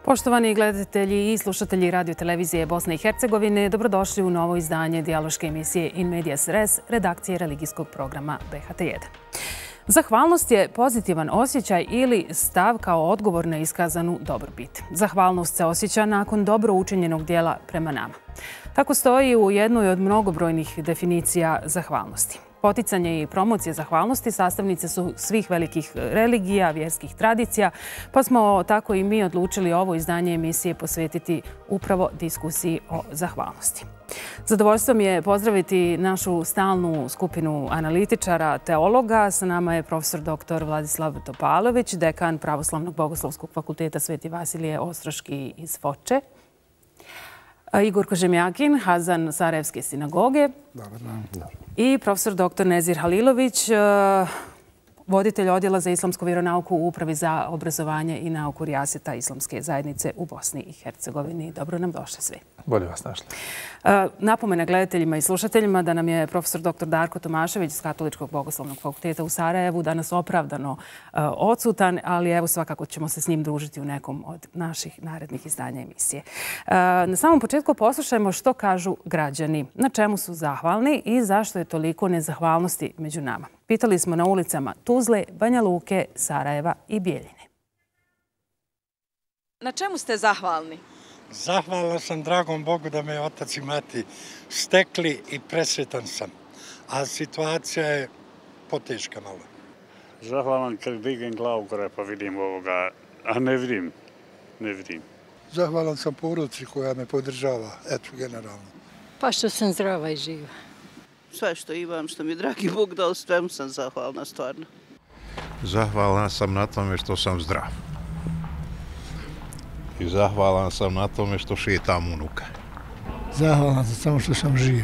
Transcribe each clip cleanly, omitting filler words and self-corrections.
Poštovani gledatelji i slušatelji radio-televizije Bosne i Hercegovine, dobrodošli u novo izdanje dijaloške emisije In Medias Res, redakcije religijskog programa BHT1. Zahvalnost je pozitivan osjećaj ili stav kao odgovor na iskazanu dobrobit. Zahvalnost se osjeća nakon dobro učinjenog dijela prema nama. Tako stoji u jednoj od mnogobrojnih definicija zahvalnosti. Poticanje i promocija zahvalnosti sastavnice su svih velikih religija, vjerskih tradicija, pa smo tako i mi odlučili ovo izdanje emisije posvetiti upravo diskusiji o zahvalnosti. Zadovoljstvo mi je pozdraviti našu stalnu skupinu analitičara, teologa. Sa nama je profesor dr. Vladislav Topalović, dekan Pravoslavnog bogoslovskog fakulteta Sveti Vasilije Ostroški iz Foče. Igor Kožemjakin, Hazan Sarajevske sinagoge. Dobar dan. I profesor dr. Nezir Halilović, voditelj odjela za islamsku vjeronauku u Upravi za obrazovanje i nauku Rijaseta Islamske zajednice u Bosni i Hercegovini. Dobro nam došli svi. Bolje vas našli. Napomena gledateljima i slušateljima da nam je profesor dr. Darko Tomašević iz Katoličkog bogoslovnog fakulteta u Sarajevu danas opravdano odsutan, ali evo svakako ćemo se s njim družiti u nekom od naših narednih izdanja emisije. Na samom početku poslušajmo što kažu građani, na čemu su zahvalni i zašto je toliko nezahvalnosti među nama. Pitali smo na ulicama Tuzle, Banja Luke, Sarajeva i Bijeljine. Na čemu ste zahvalni? Zahvalan sam dragom Bogu da me otac i mati stekli i presretan sam. A situacija je poteška malo. Zahvalan kad digem glavu gore pa vidim ovoga, a ne vidim. Zahvalan sam porodici koja me podržava, eto generalno. Pa što sam zdrava i živa. Sve što imam, što mi dragi Bog dao, svemu sam zahvalna stvarno. Zahvalan sam na tome što sam zdrav. I zahvalan sam na tome što šetam unuka. Zahvalan sam samo što sam živ.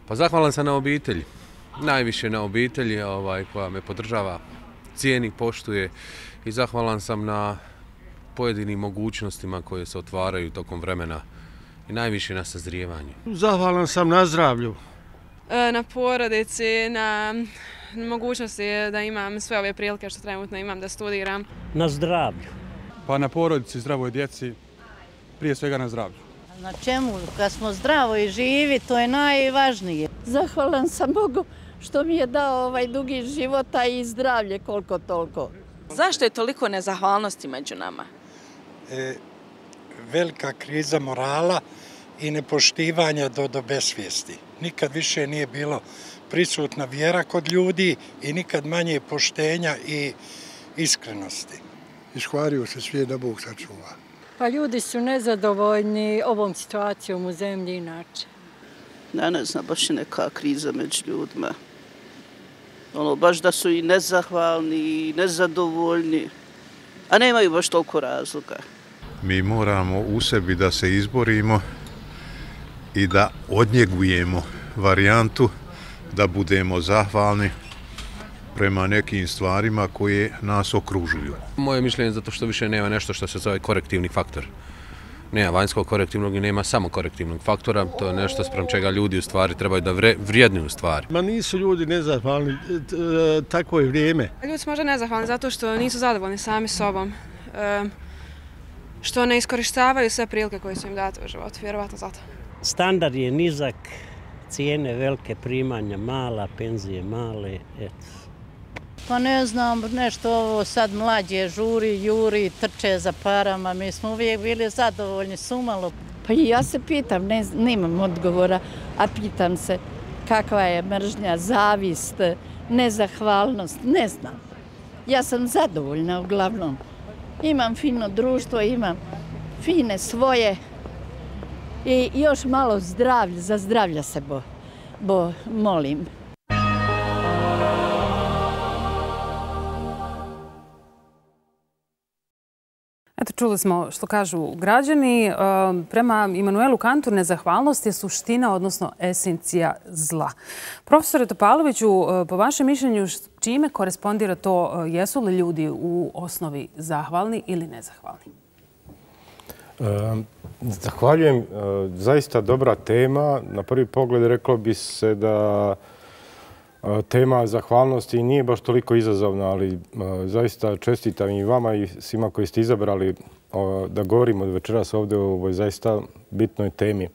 Pa zahvalan sam na obitelji. Najviše na obitelji koja me podržava, cijeni, poštuje. I zahvalan sam na pojedinim mogućnostima koje se otvaraju tokom vremena. I najviše na sazrijevanju. Zahvalan sam na zdravlju. Na porodici, na mogućnosti da imam sve ove prilike što trenutno imam da studiram. Na zdravlju. Pa na porodici, zdravoj djeci, prije svega na zdravlju. Na čemu? Kad smo zdravo i živi, to je najvažnije. Zahvalan sam Bogu što mi je dao ovaj dugi života i zdravlje koliko toliko. Zašto je toliko nezahvalnosti među nama? Velika kriza morala i nepoštivanja do besvijesti. Nikad više nije bilo prisutna vjera kod ljudi i nikad manje poštenja i iskrenosti. Iškvario se svijet da Bog sačuva. Pa ljudi su nezadovoljni ovom situacijom u zemlji inače. Ne znam, baš je neka kriza među ljudima. Baš da su i nezahvalni i nezadovoljni, a nemaju baš toliko razloga. Mi moramo u sebi da se izborimo i da odnjegujemo varijantu da budemo zahvalni prema nekim stvarima koje nas okružuju. Moje mišljenje je zato što više nema nešto što se zove korektivni faktor. Nema vanjskog korektivnog i nema samo korektivnog faktora. To je nešto sprem čega ljudi u stvari trebaju da vrijednuju stvari. Ma nisu ljudi nezahvalni, takvo je vrijeme. Ljudi su možda nezahvalni zato što nisu zadovoljni sami sobom. Što ne iskorištavaju sve prilike koje su im date u životu, vjerovatno zato. Standard je nizak, cijene velike, primanja mala, penzije male, eto. Pa ne znam, nešto ovo sad mlađe žuri, juri, trče za parama. Mi smo uvijek bili zadovoljni, sumalo. Pa i ja se pitam, nemam odgovora, a pitam se kakva je mržnja, zavist, nezahvalnost, ne znam. Ja sam zadovoljna uglavnom. Imam fino društvo, imam fine svoje i još malo zdravlja, za zdravlja se molim. Eto, čuli smo što kažu građani. Prema Immanuelu Kantu, nezahvalnost je suština, odnosno esencija zla. Profesore Topaloviću, po vašem mišljenju, čime korespondira to? Jesu li ljudi u osnovi zahvalni ili nezahvalni? Zahvaljujem. Zaista dobra tema. Na prvi pogled reklo bi se da Tema zahvalnosti nije baš toliko izazovna, ali zaista čestitam i vama i svima koji ste izabrali da govorimo večeras ovdje o ovoj zaista bitnoj temi.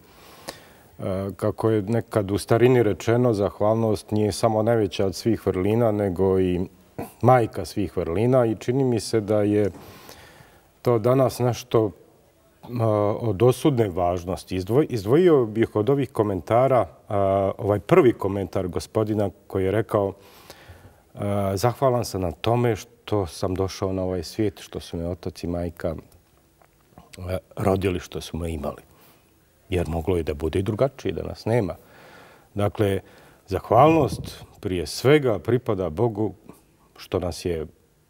Kako je nekad u starini rečeno, zahvalnost nije samo najveća od svih vrlina, nego i majka svih vrlina i čini mi se da je to danas nešto od osudne važnosti. Izdvojio bih od ovih komentara ovaj prvi komentar gospodina koji je rekao zahvalan sam na tome što sam došao na ovaj svijet, što su me otac i majka rodili, što su me imali. Jer moglo je da bude i drugačije, da nas nema. Dakle, zahvalnost prije svega pripada Bogu što nas je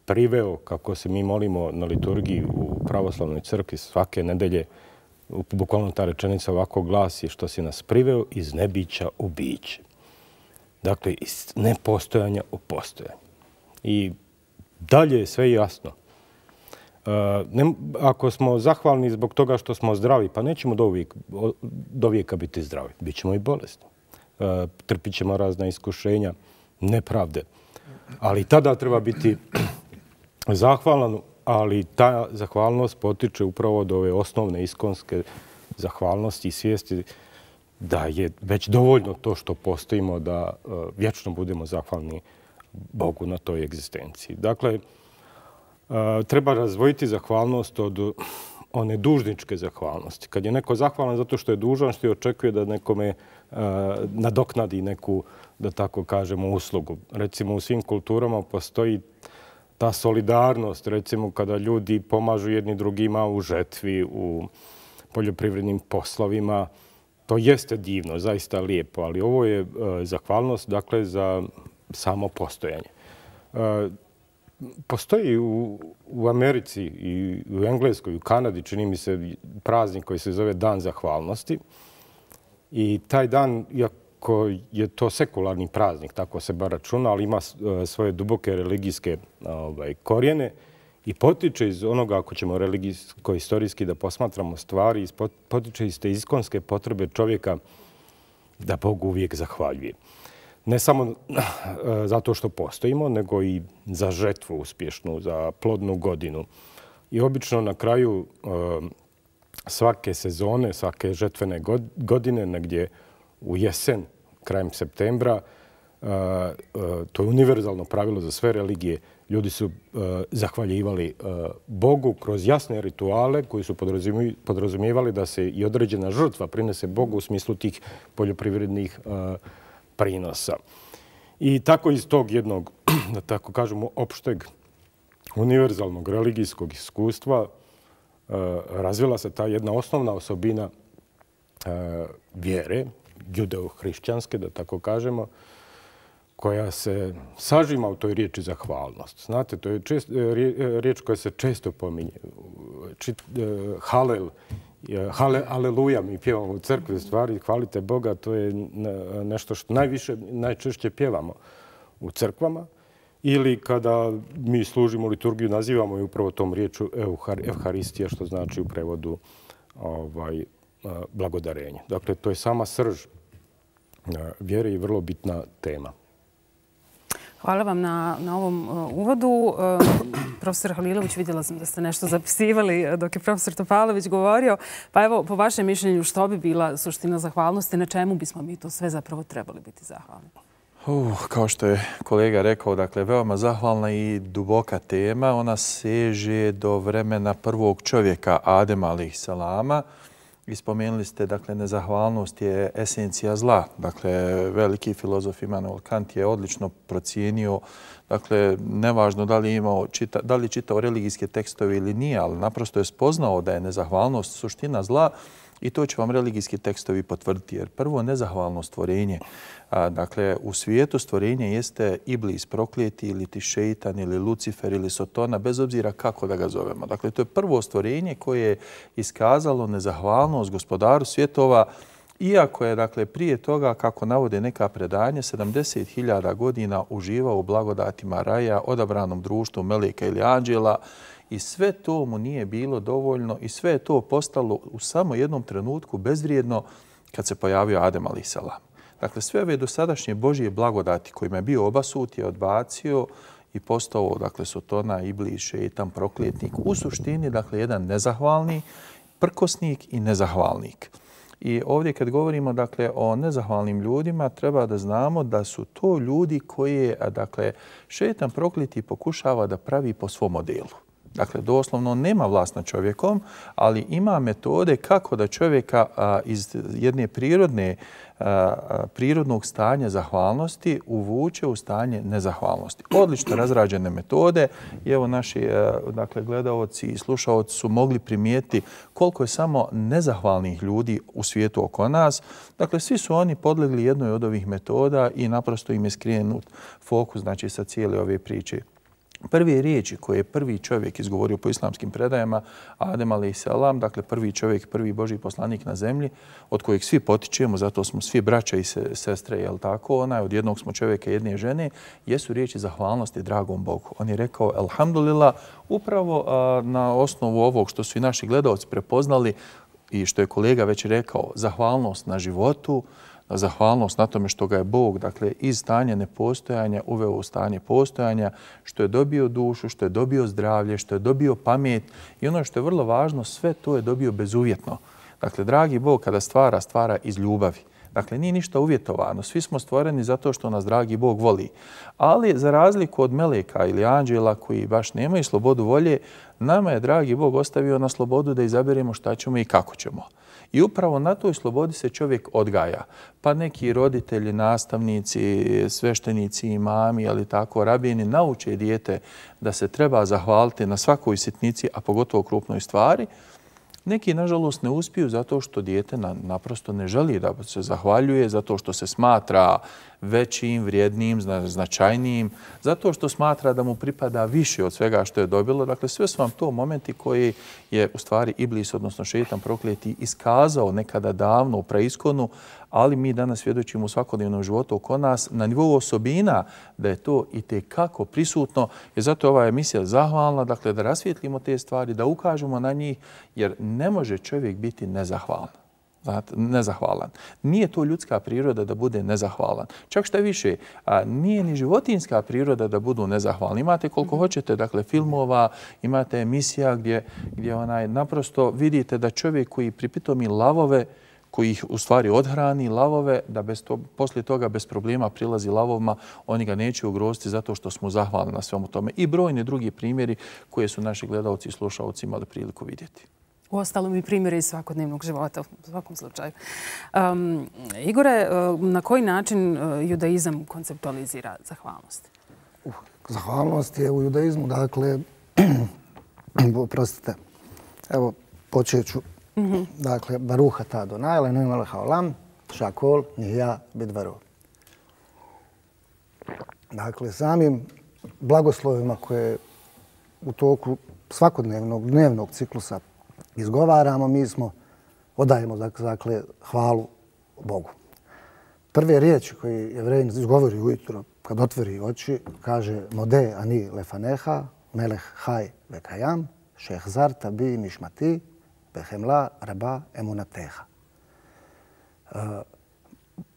priveo, kako se mi molimo na liturgiji u pravoslavnoj crkvi svake nedelje, bukvalno ta rečenica ovako glasi, što si nas priveo iz nebića u biće. Dakle, iz nepostojanja u postojanje. I dalje je sve jasno. Ako smo zahvalni zbog toga što smo zdravi, pa nećemo do vijeka biti zdravi. Bićemo i bolesni. Trpit ćemo razna iskušenja, nepravde. Ali tada treba biti zahvalan, ali ta zahvalnost potiče upravo od ove osnovne iskonske zahvalnosti i svijesti da je već dovoljno to što postojimo da vječno budemo zahvalni Bogu na toj egzistenciji. Dakle, treba razvojiti zahvalnost od one dužničke zahvalnosti. Kad je neko zahvalan zato što je dužan, što je očekuje da nekome nadoknadi neku, da tako kažemo, uslugu. Recimo, u svim kulturama postoji ta solidarnost, recimo kada ljudi pomažu jedni drugima u žetvi, u poljoprivrednim poslovima. To jeste divno, zaista lijepo, ali ovo je zahvalnost, dakle, za samo postojanje. Postoji u Americi i u Engleskoj i u Kanadi, čini mi se, praznik koji se zove Dan zahvalnosti. I taj dan, iako je to sekularni praznik, tako se bar računa, ali ima svoje duboke religijske korijene i potiče iz onoga, ako ćemo religijsko-istorijski da posmatramo stvari, potiče iz te iskonske potrebe čovjeka da Bogu uvijek zahvaljuje. Ne samo zato što postojimo, nego i za žetvu uspješnu, za plodnu godinu. I obično na kraju svake sezone, svake žetvene godine, negdje u jesen, krajem septembra, to je univerzalno pravilo za sve religije, ljudi su zahvaljivali Bogu kroz jasne rituale koji su podrazumijevali da se i određena žrtva prinese Bogu u smislu tih poljoprivrednih prinosa. I tako iz tog jednog, da tako kažemo, opšteg univerzalnog religijskog iskustva razvila se ta jedna osnovna osobina vjere, judeo-hrišćanske, da tako kažemo, koja se sažima u toj riječi zahvalnost. Znate, to je riječ koja se često pominje. Halel, aleluja, mi pjevamo u crkvi, stvari, hvalite Boga, to je nešto što najčešće pjevamo u crkvama. Ili kada mi služimo liturgiju, nazivamo je upravo tom riječu Evharistija, što znači u prevodu blagodarenje. Dakle, to je sama srž vjere i vrlo bitna tema. Hvala vam na ovom uvodu. Profesor Halilović, vidjela sam da ste nešto zapisivali dok je profesor Topalović govorio. Pa evo, po vašem mišljenju, što bi bila suština zahvalnosti? Na čemu bismo mi to sve zapravo trebali biti zahvalni? Kao što je kolega rekao, dakle, veoma zahvalna i duboka tema. Ona seže do vremena prvog čovjeka, Adema alejhi selama. I spomenuli ste, dakle, nezahvalnost je esencija zla. Dakle, veliki filozof Immanuel Kant je odlično procijenio, dakle, nevažno da li je čitao religijske tekstove ili nije, ali naprosto je spoznao da je nezahvalnost suština zla i to će vam religijski tekstovi potvrditi. Jer prvo, nezahvalno stvorenje. Dakle, u svijetu stvorenje jeste Iblis, prokleti, ili ti šeitan, ili Lucifer, ili Sotona, bez obzira kako da ga zovemo. Dakle, to je prvo stvorenje koje je iskazalo nezahvalnost gospodaru svjetova, iako je, dakle, prije toga, kako navode neka predanja, 70.000 godina uživao u blagodatima raja, odabranom društvu meleka ili anđela, i sve to mu nije bilo dovoljno i sve je to postalo u samo jednom trenutku bezvrijedno kad se pojavio Adem alejhi selam. Dakle, sve ove dosadašnje Božje blagodati kojima je bio obasut je odbacio i postao, dakle, sotona, iblis, šeitan, prokljetnik. U suštini, dakle, jedan nezahvalni, prkosnik i nezahvalnik. I ovdje kad govorimo, dakle, o nezahvalnim ljudima, treba da znamo da su to ljudi koje, dakle, šeitan prokleti pokušava da pravi po svom modelu. Dakle, doslovno nema vlast nad čovjekom, ali ima metode kako da čovjeka iz jedne prirodnog stanja zahvalnosti uvuče u stanje nezahvalnosti. Odlično razrađene metode i evo naši dakle, gledaoci i slušaoci su mogli primijetiti koliko je samo nezahvalnih ljudi u svijetu oko nas. Dakle, svi su oni podlegli jednoj od ovih metoda i naprosto im je skrenut fokus, znači, sa cijele ove priče. Prve riječi koje je prvi čovjek izgovorio po islamskim predajama, Adem a.s., dakle prvi čovjek, prvi Božji poslanik na zemlji, od kojeg svi potičemo, zato smo svi braća i sestre, jel tako, od jednog smo čovjeka i jedne žene, jesu riječi zahvalnosti dragom Bogu. On je rekao, elhamdulillah, upravo na osnovu ovog što su i naši gledalci prepoznali i što je kolega već rekao, zahvalnost na životu, zahvalnost na tome što ga je Bog, dakle, iz stanja nepostojanja uveo u stanje postojanja, što je dobio dušu, što je dobio zdravlje, što je dobio pamet i ono što je vrlo važno, sve to je dobio bezuvjetno. Dakle, dragi Bog kada stvara iz ljubavi. Dakle, nije ništa uvjetovano. Svi smo stvoreni zato što nas dragi Bog voli. Ali za razliku od meleka ili anđela koji baš nemaju slobodu volje, nama je dragi Bog ostavio na slobodu da izaberemo šta ćemo i kako ćemo. I upravo na toj slobodi se čovjek odgaja. Pa neki roditelji, nastavnici, sveštenici, imami, ali tako, rabini nauče dijete da se treba zahvaliti na svakoj sitnici, a pogotovo krupnoj stvari. Neki, nažalost, ne uspiju zato što dijete naprosto ne želi da se zahvaljuje, zato što se smatra većim, vrijednim, značajnijim, zato što smatra da mu pripada više od svega što je dobilo. Dakle, sve su vam to momenti koji je u stvari iblis, odnosno šeitan prokleti, iskazao nekada davno u preiskonu, ali mi danas svjedočimo u svakodnevnom životu oko nas na nivou osobina da je to i tekako prisutno. I zato je ova emisija zahvalna, dakle, da rasvijetlimo te stvari, da ukažemo na njih, jer ne može čovjek biti nezahvalan. Nezahvalan. Nije to ljudska priroda da bude nezahvalan. Čak šta više, nije ni životinjska priroda da budu nezahvalni. Imate koliko hoćete, dakle, filmova, imate emisija gdje naprosto vidite da čovjek koji pripitomi lavove, koji ih u stvari odhrani lavove, da poslije toga bez problema prilazi lavovima, oni ga neće ugroziti zato što smo zahvalni na svemu tome. I brojni drugi primjeri koje su naši gledalci i slušalci imali priliku vidjeti. Uostalom i primjere iz svakodnevnog života, u svakom slučaju. Igore, na koji način judaizam konceptualizira zahvalnost? Zahvalnost je u judaizmu, dakle, oprostite, evo, počet ću. Dakle, Baruch atah Adonai, Eloheinu melech haolam, shakol nihya bidvaro. Dakle, samim blagoslovima koje u toku svakodnevnog, dnevnog ciklusa izgovaramo, mi odajemo, dakle, hvalu Bogu. Prve riječi koje Jevreji izgovori ujutro kad otvori oči, kaže Mode ani lefaneha, melech haj vekajam, šehzarta bi nishmati, behemla raba emunateha.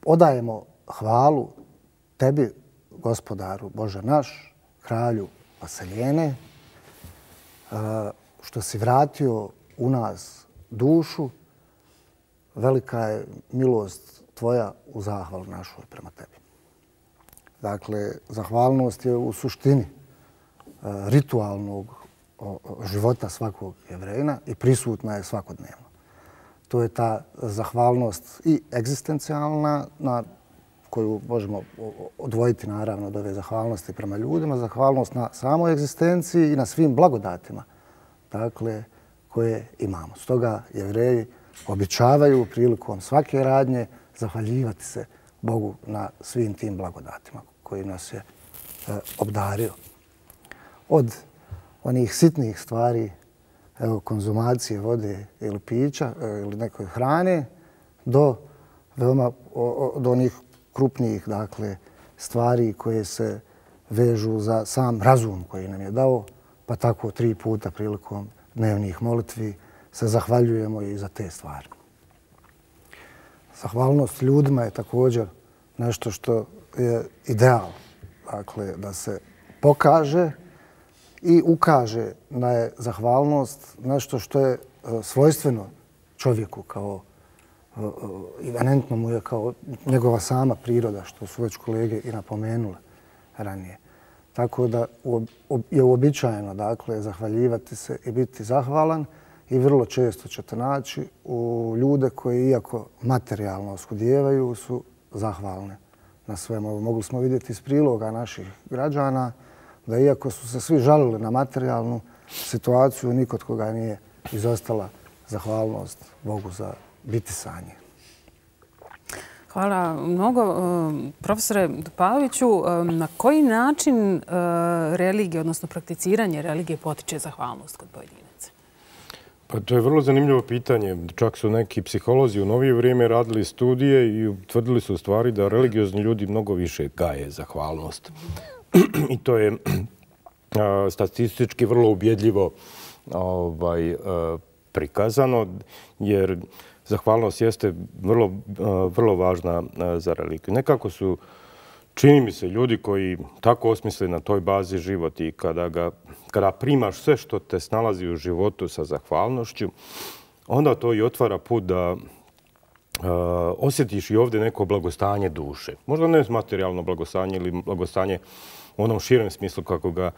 Odajemo hvalu tebi, gospodaru Bože naš, kralju vaseljene, što si vratio u nas dušu, velika je milost tvoja u zahvalu našoj prema tebi. Dakle, zahvalnost je u suštini ritualnog života svakog Jevrejina i prisutna je svakodnevno. To je ta zahvalnost i egzistencijalna, na koju možemo odvojiti naravno od ove zahvalnosti prema ljudima, zahvalnost na samoj egzistenciji i na svim blagodatima, dakle, koje imamo. Stoga Jevreji običavaju prilikom svake radnje zahvaljivati se Bogu na svim tim blagodatima koji nas je obdario. Od onih sitnih stvari, evo, konzumacije vode ili pića ili nekoj hrane, do onih krupnijih, dakle, stvari koje se vežu za sam razum koji nam je dao, pa tako 3 puta prilikom dnevnih molitvi se zahvaljujemo i za te stvari. Zahvalnost ljudima je također nešto što je ideal. Dakle, da se pokaže i ukaže da je zahvalnost nešto što je svojstveno čovjeku, kao imanentno mu je kao njegova sama priroda, što su već kolege i napomenule ranije. Tako da je uobičajeno, dakle, zahvaljivati se i biti zahvalan i vrlo često ćete naći u ljude koji, iako materijalno oskudijevaju, su zahvalne na svemu. Mogli smo vidjeti iz priloga naših građana da iako su se svi žalili na materijalnu situaciju, nikod koga nije izostala zahvalnost Bogu za bitisanje. Hvala mnogo. Profesore Topaloviću, na koji način religija, odnosno prakticiranje religije potiče zahvalnost kod pojedinaca? Pa to je vrlo zanimljivo pitanje. Čak su neki psiholozi u novije vrijeme radili studije i utvrdili su u stvari da religiozni ljudi mnogo više gaje zahvalnost. I to je statistički vrlo ubjedljivo prikazano, jer zahvalnost jeste vrlo važna za religiju. Nekako su, čini mi se, ljudi koji tako osmisle na toj bazi život i kada primaš sve što te snalazi u životu sa zahvalnošću, onda to i otvara put da osjetiš i ovdje neko blagostanje duše. Možda ne materijalno blagostanje ili blagostanje u onom širem smislu kako ga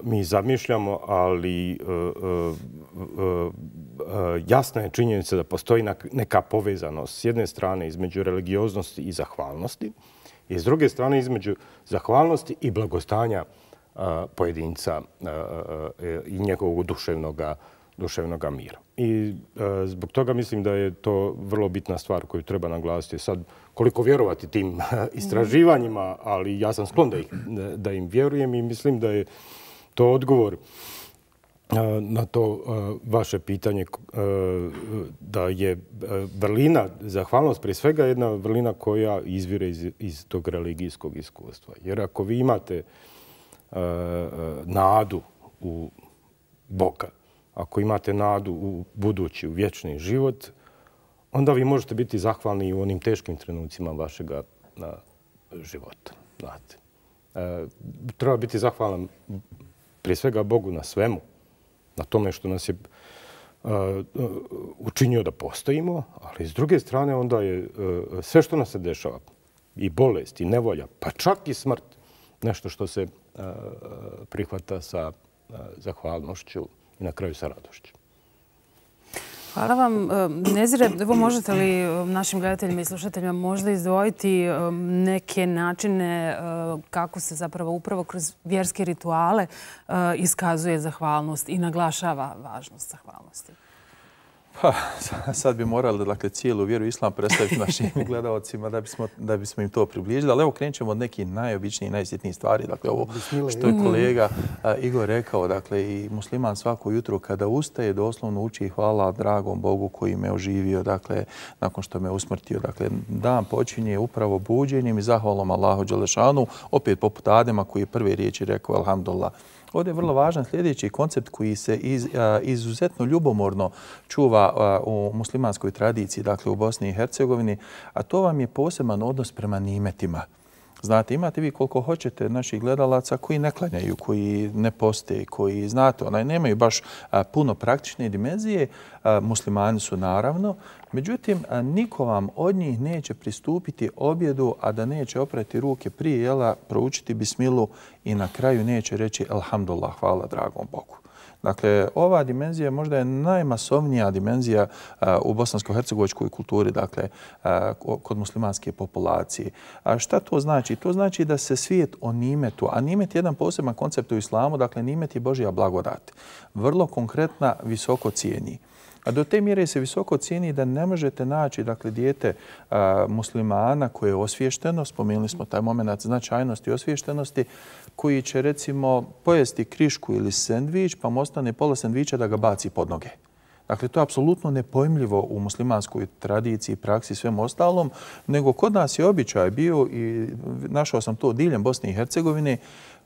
mi zamišljamo, ali jasna je činjenica da postoji neka povezanost s jedne strane između religioznosti i zahvalnosti i s druge strane između zahvalnosti i blagostanja pojedinca i njegovog duševnog mira. I zbog toga mislim da je to vrlo bitna stvar koju treba naglasiti. Sad, koliko vjerovati tim istraživanjima, ali ja sam sklon da im vjerujem i mislim da je to odgovor na to vaše pitanje da je vrlina, zahvalnost prije svega jedna vrlina koja izvire iz tog religijskog iskustva. Jer ako vi imate nadu u Boga, ako imate nadu u budući, u vječni život, onda vi možete biti zahvalni i u onim teškim trenucima vašeg života. Treba biti zahvalan prije svega Bogu na svemu, na tome što nas je učinio da postojimo, ali s druge strane onda je sve što nas se dešava, i bolest, i nevolja, pa čak i smrt, nešto što se prihvata sa zahvalnošću i na kraju sa radošću. Hvala vam. Nezire, evo možete li našim gledateljima i slušateljima možda izdvojiti neke načine kako se zapravo upravo kroz vjerske rituale iskazuje zahvalnost i naglašava važnost zahvalnosti? Pa, sad bi morali dakle, cijelu vjeru islam predstaviti našim gledalcima da bismo im to približili. Ali evo krenut ćemo od nekih najobičnijih, najsjetnijih stvari. Dakle, ovo što je kolega Igor rekao, dakle, i musliman svako jutro kada ustaje doslovno uči hvala dragom Bogu koji me oživio, dakle, nakon što me usmrtio. Dakle, dan počinje upravo buđenjem i zahvalom Allahu dželešanu, opet poput Adema koji je prve riječi rekao alhamdulillah. Ovdje je vrlo važan sljedeći koncept koji se izuzetno ljubomorno čuva u muslimanskoj tradiciji, dakle u Bosni i Hercegovini, a to vam je poseban odnos prema nimetima. Znate, imate vi koliko hoćete naših gledalaca koji ne klanjaju, koji ne poste, koji, znate, nemaju baš puno praktične dimenzije. Muslimani su naravno. Međutim, niko vam od njih neće pristupiti objedu, a da neće oprati ruke prije jela, proučiti bismilu i na kraju neće reći alhamdulillah, hvala dragom Bogu. Dakle, ova dimenzija možda je najmasovnija dimenzija u bosansko-hercegovačkoj kulturi, dakle, kod muslimanske populacije. A šta to znači? To znači da se svijet o nimetu, a nimet je jedan poseban koncept u islamu, dakle, nimet je Božja blagodat. Vrlo konkretna, visoko cijeni. A do te mjere se visoko cijeni da ne možete naći dakle, dijete muslimana koje je osviješteno, spomenuli smo taj moment značajnosti i osviještenosti, koji će recimo pojesti krišku ili sendvič, pa mu ostane pola sendviča da ga baci pod noge. Dakle, to je apsolutno nepojmljivo u muslimanskoj tradiciji, praksi i svem ostalom, nego kod nas je običaj bio i našao sam to diljem Bosne i Hercegovine,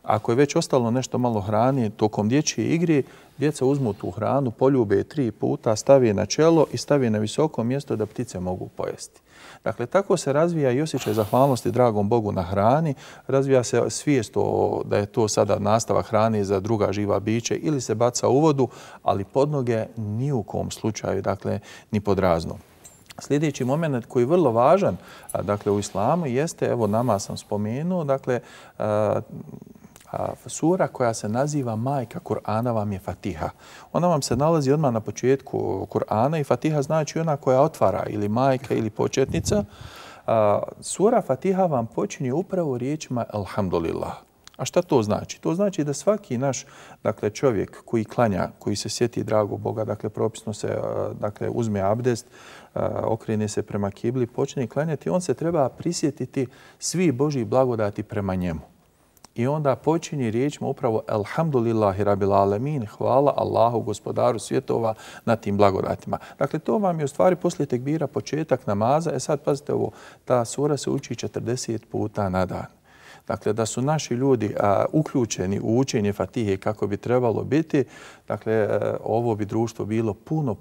Ako je već ostalo nešto malo hrane tokom dječje igre, djeca uzmu tu hranu, poljube 3 puta, stave na čelo i stave na visoko mjesto da ptice mogu pojesti. Dakle, tako se razvija i osjećaj zahvalnosti dragom Bogu na hrani, razvija se svijest da je to sada nastavak hrane za druga živa biće ili se baca u vodu, ali pod noge ni u kom slučaju, dakle, ni pod razno. Sljedeći moment koji je vrlo važan, dakle, u islamu jeste, evo nama sam spomenuo, dakle, sura koja se naziva majka Kur'ana vam je Fatiha. Ona vam se nalazi odmah na početku Kur'ana i Fatiha znači ona koja otvara ili majka ili početnica. Sura Fatiha vam počinje upravo riječima Alhamdulillah. A šta to znači? To znači da svaki naš, dakle, čovjek koji klanja, koji se sjeti dragog Boga, dakle, propisno se, dakle, uzme abdest, okrene se prema kibli, počne klanjati, on se treba prisjetiti svi Božji blagodati prema njemu. I onda počinje riječima upravo Alhamdulillahi Rabbil Alamin, hvala Allahu, gospodaru svjetova, na tim blagodatima. Dakle, to vam je u stvari poslije tekbira početak namaza. Sad pazite ovo, ta sura se uči 40 puta na dan. Dakle, da su naši ljudi uključeni u učenje Fatihe kako bi trebalo biti, dakle, ovo bi društvo bilo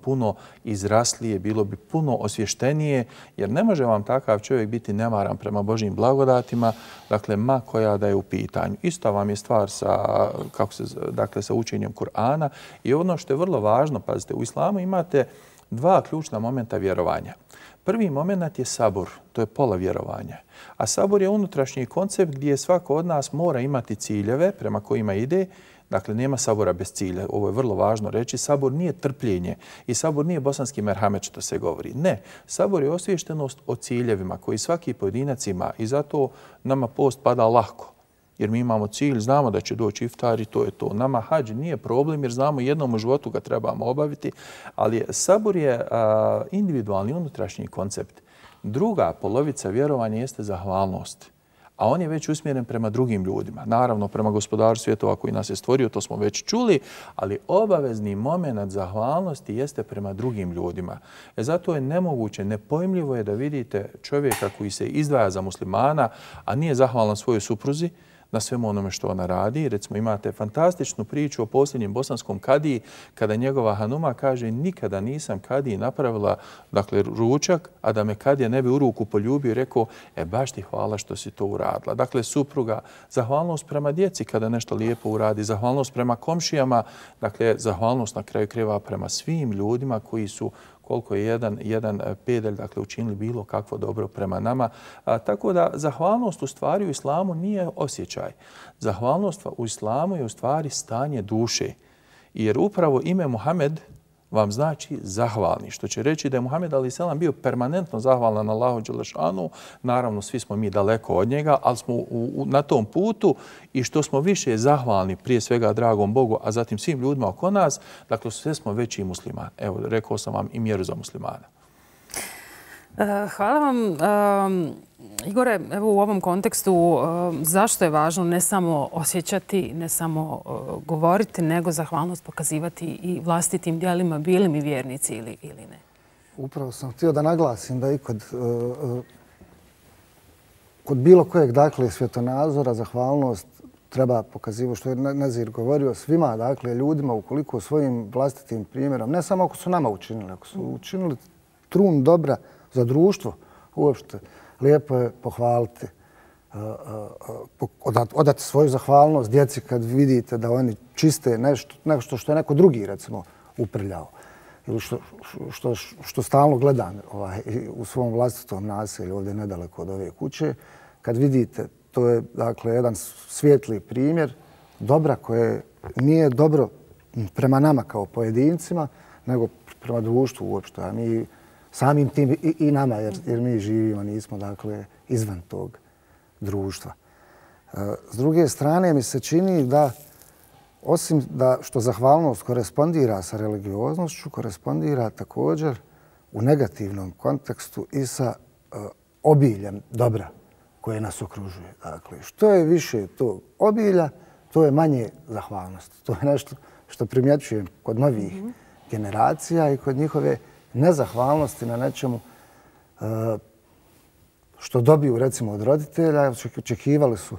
puno izraslije, bilo bi puno osvještenije, jer ne može vam takav čovjek biti nemaran prema Božjim blagodatima, dakle, ma koja da je u pitanju. Isto vam je stvar sa učenjem Kur'ana i ono što je vrlo važno, pazite, u islamu imate 2 ključna momenta vjerovanja. Prvi moment je sabur, to je pola vjerovanja. A sabur je unutrašnji koncept gdje svako od nas mora imati ciljeve prema kojima ide. Dakle, nema sabura bez cilja. Ovo je vrlo važno reći. Sabur nije trpljenje i sabur nije bosanski merhamet što se govori. Ne, sabur je osviještenost o ciljevima koji svaki pojedinac ima i zato nama post pada lahko. Jer mi imamo cilj, znamo da će doći iftar i to je to. Nama hadž nije problem jer znamo jednom u životu ga trebamo obaviti, ali sabur je individualni unutrašnji koncept. Druga polovica vjerovanja jeste zahvalnost, a on je već usmjeren prema drugim ljudima. Naravno, prema gospodaru svjetova koji nas je stvorio, to smo već čuli, ali obavezni moment zahvalnosti jeste prema drugim ljudima. Zato je nemoguće, nepojmljivo je da vidite čovjeka koji se izdvaja za muslimana, a nije zahvalan svojoj supruzi, na svemu onome što ona radi. Recimo, imate fantastičnu priču o posljednjem bosanskom kadiji kada njegova hanuma kaže nikada nisam kadiji napravila, dakle, ručak, a da me kadija ne bi u ruku poljubio i rekao baš ti hvala što si to uradila. Dakle, supruga, zahvalnost prema djeci kada nešto lijepo uradi, zahvalnost prema komšijama, dakle, zahvalnost na kraju krajeva prema svim ljudima koji su koliko je jedan pedalj, dakle, učinili bilo kakvo dobro prema nama. Tako da zahvalnost u stvari u islamu nije osjećaj. Zahvalnost u islamu je u stvari stanje duše. Jer upravo ime Muhammed vam znači zahvalni, što će reći da je Muhammed a.s. bio permanentno zahvalan Allahu dželešanu. Naravno, svi smo mi daleko od njega, ali smo na tom putu i što smo više zahvalni prije svega dragom Bogu, a zatim svim ljudima oko nas, dakle, sve smo veći muslimani. Evo, rekao sam vam i mjeru za muslimana. Hvala vam. Igore, evo u ovom kontekstu zašto je važno ne samo osjećati, ne samo govoriti, nego zahvalnost pokazivati i vlastitim djelima, bili mi vjernici ili ne? Upravo sam htio da naglasim da i kod bilo kojeg, dakle, svjetonazora zahvalnost treba pokazivati, što je Nazir govorio, svima, dakle, ljudima, ukoliko svojim vlastitim primjerom, ne samo ako su nama učinili, ako su učinili trun dobra za društvo uopšte, lijepo je pohvaliti, odati svoju zahvalnost djeci kad vidite da oni čiste nešto što je neko drugi, recimo, uprljao. Ili što stalno gledam u svom vlastitom naselju, ovdje nedaleko od ove kuće, kad vidite, to je, dakle, jedan svijetli primjer dobra koje nije dobro prema nama kao pojedincima, nego prema društvu uopšte. A mi samim tim i nama, jer mi živimo, nismo, dakle, izvan tog društva. S druge strane, mi se čini da, osim da što zahvalnost korespondira sa religioznošću, korespondira također u negativnom kontekstu i sa obiljem dobra koje nas okružuje. Dakle, što je više tog obilja, to je manje zahvalnosti. To je nešto što primjećujem kod novih generacija i kod njihove nezahvalnosti na nečemu što dobiju, recimo, od roditelja. Očekivali su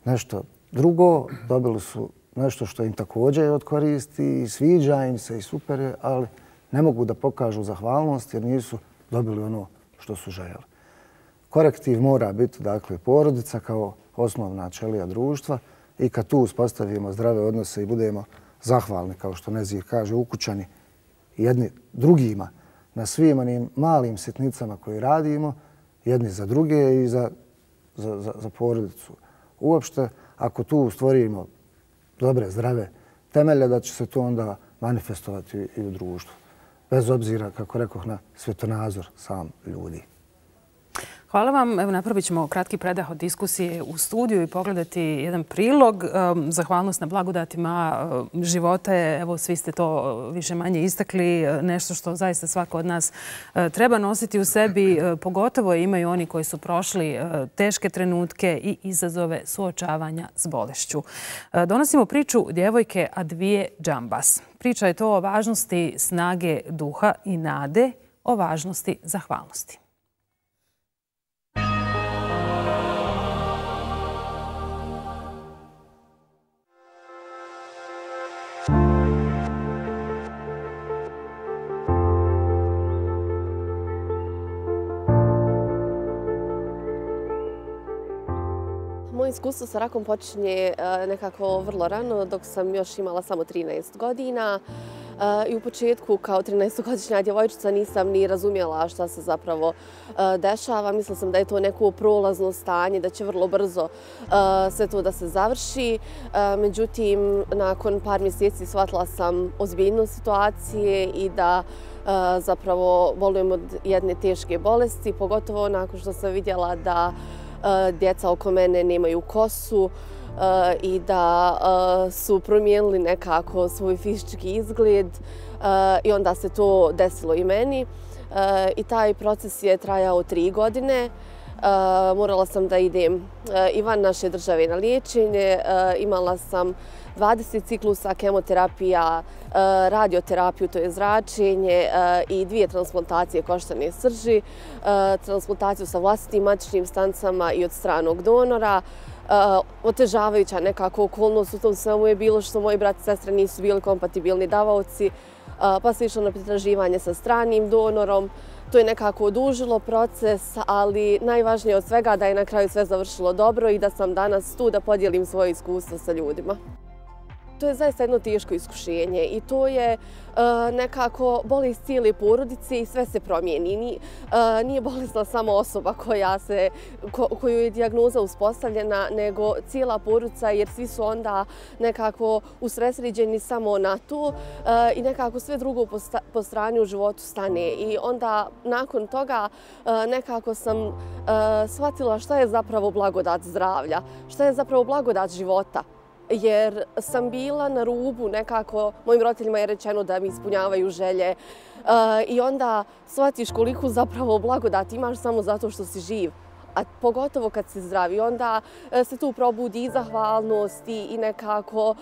nešto Drugo, dobili su nešto što im također od koristi i sviđa im se i super je, ali ne mogu da pokažu zahvalnost jer nisu dobili ono što su željeli. Korektiv mora biti, dakle, porodica kao osnovna ćelija društva i kad tu uspostavimo zdrave odnose i budemo zahvalni, kao što Nezir kaže, ukućani jedni drugima na svim onim malim sitnicama koje radimo, jedni za druge i za porodicu. Uopšte, ako tu stvorimo dobre, zdrave temelje, da će se to onda manifestovati i u društvu. Bez obzira, kako rekoh, na svjetonazor sam ljudi. Hvala vam. Evo, napravit ćemo kratki predah od diskusije u studiju i pogledati jedan prilog. Zahvalnost na blagodatima života je, evo, svi ste to više manje istakli, nešto što zaista svako od nas treba nositi u sebi. Pogotovo imaju oni koji su prošli teške trenutke i izazove suočavanja s bolešću. Donosimo priču djevojke Advije Džambas. Priča je to o važnosti snage duha i nade, o važnosti zahvalnosti. Moje iskustvo sa rakom počinje nekako vrlo rano, dok sam još imala samo 13 godina. I u početku, kao 13-godišnja djevojčica, nisam ni razumjela šta se zapravo dešava. Mislila sam da je to neko prolazno stanje, da će vrlo brzo sve to da se završi. Međutim, nakon par mjeseci shvatila sam ozbiljnost situacije i da zapravo bolujem od jedne teške bolesti, pogotovo nakon što sam vidjela da djeca oko mene nemaju kosu i da su promijenili nekako svoj fizički izgled i onda se to desilo i meni. I taj proces je trajao 3 godine. Morala sam da idem i van naše države na liječenje. Imala sam 20 ciklusa kemoterapija, radioterapiju, to je zračenje i 2 transplantacije koštane srži, transplantaciju sa vlastitim matičnim stanicama i od stranog donora. Otežavajuća nekako okolnost u tom svemu je bilo što moji brat i sestre nisu bili kompatibilni davaoci, pa se išlo na pretraživanje sa stranim donorom. To je nekako odužilo proces, ali najvažnije od svega da je na kraju sve završilo dobro i da sam danas tu da podijelim svoje iskustvo sa ljudima. To je zaista jedno teško iskušenje i to je nekako bolest cijele porodice i sve se promijeni. Nije bolesna samo osoba koju je dijagnoza uspostavljena, nego cijela porodica jer svi su onda nekako usredsređeni samo na to i nekako sve drugo po strani u životu stane. I onda nakon toga nekako sam shvatila šta je zapravo blagodat zdravlja, šta je zapravo blagodat života. Jer sam bila na rubu nekako, mojim roditeljima je rečeno da mi ispunjavaju želje i onda shvatiš koliko zapravo blagodat imaš samo zato što si živ. A pogotovo kad si zdrav i onda se tu probudi i zahvalnost i nekako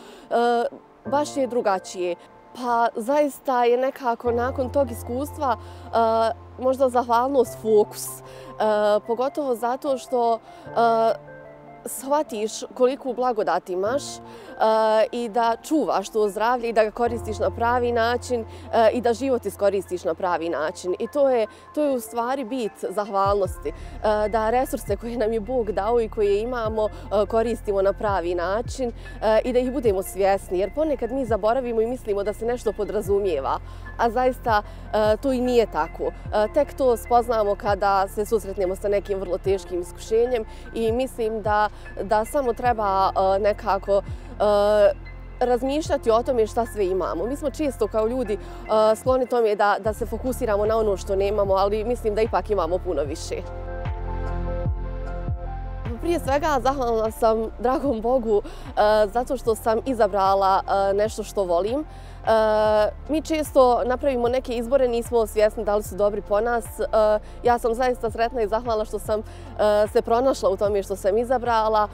baš je drugačije. Pa zaista je nekako nakon tog iskustva možda zahvalnost fokus. Pogotovo zato što shvatiš koliku blagodat imaš i da čuvaš to zdravlje i da ga koristiš na pravi način i da život iskoristiš na pravi način. I to je u stvari bit zahvalnosti. Da resurse koje nam je Bog dao i koje imamo koristimo na pravi način i da ih budemo svjesni. Jer ponekad mi zaboravimo i mislimo da se nešto podrazumijeva, a zaista to i nije tako. Tek to spoznamo kada se susretnemo sa nekim vrlo teškim iskušenjem i mislim da samo treba nekako razmišljati o tome šta sve imamo. Mi smo često kao ljudi skloni tome da se fokusiramo na ono što nemamo, ali mislim da ipak imamo puno više. Prije svega zahvalna sam dragom Bogu zato što sam izabrala nešto što volim, Mi često napravimo neke izbore, nismo svjesni da li su dobri po nas. Ja sam zaista sretna i zahvalna što sam se pronašla u tome što sam izabrala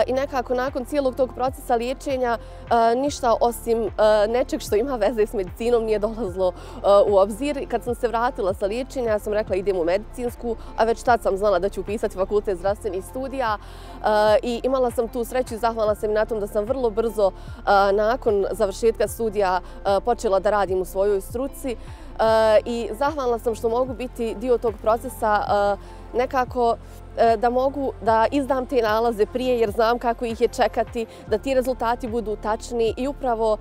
i nekako nakon cijelog tog procesa liječenja ništa osim nečeg što ima veze s medicinom nije dolazilo u obzir. Kad sam se vratila sa liječenja, ja sam rekla idem u medicinsku, a već tad sam znala da ću upisati fakultet zdravstvenih studija i imala sam tu sreću i zahvalna sam na tom da sam vrlo brzo nakon završetka studija počela da radim u svojoj struci i zahvalna sam što mogu biti dio tog procesa nekako da mogu da izdam te nalaze prije jer znam kako ih je čekati, da ti rezultati budu tačni i upravo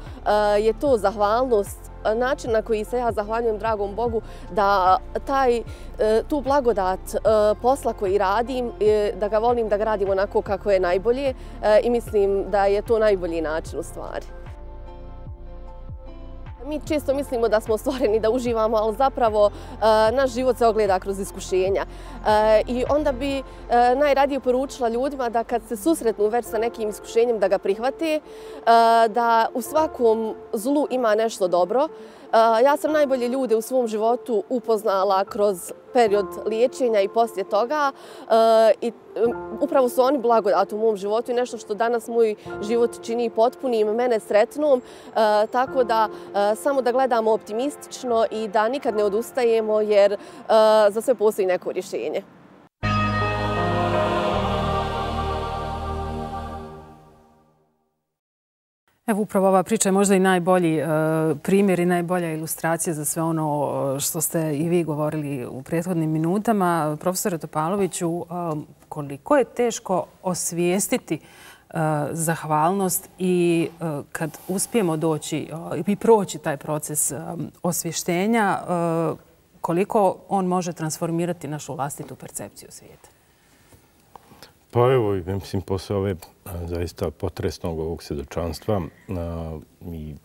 je to zahvalnost, način na koji se ja zahvaljujem dragom Bogu da tu blagodat posla koji radim, da ga volim da ga radim onako kako je najbolje i mislim da je to najbolji način u stvari. Mi često mislimo da smo stvoreni da uživamo, ali zapravo naš život se ogleda kroz iskušenja. I onda bi najradije poručila ljudima da kad se susretnu već sa nekim iskušenjem da ga prihvate, da u svakom zlu ima nešto dobro. Ja sam najbolje ljude u svom životu upoznala kroz period liječenja i poslije toga i upravo su oni blagodat u mom životu i nešto što danas moj život čini potpunim, mene sretnom, tako da samo da gledamo optimistično i da nikad ne odustajemo jer za sve postoji neko rješenje. Evo, upravo ova priča je možda i najbolji primjer i najbolja ilustracija za sve ono što ste i vi govorili u prethodnim minutama. Profesore Topaloviću, koliko je teško osvijestiti zahvalnost i kad uspijemo doći i proći taj proces osvještenja, koliko on može transformirati našu vlastitu percepciju svijeta? Pa evo, mislim, posle ove zaista potresnog ovog svjedočanstva i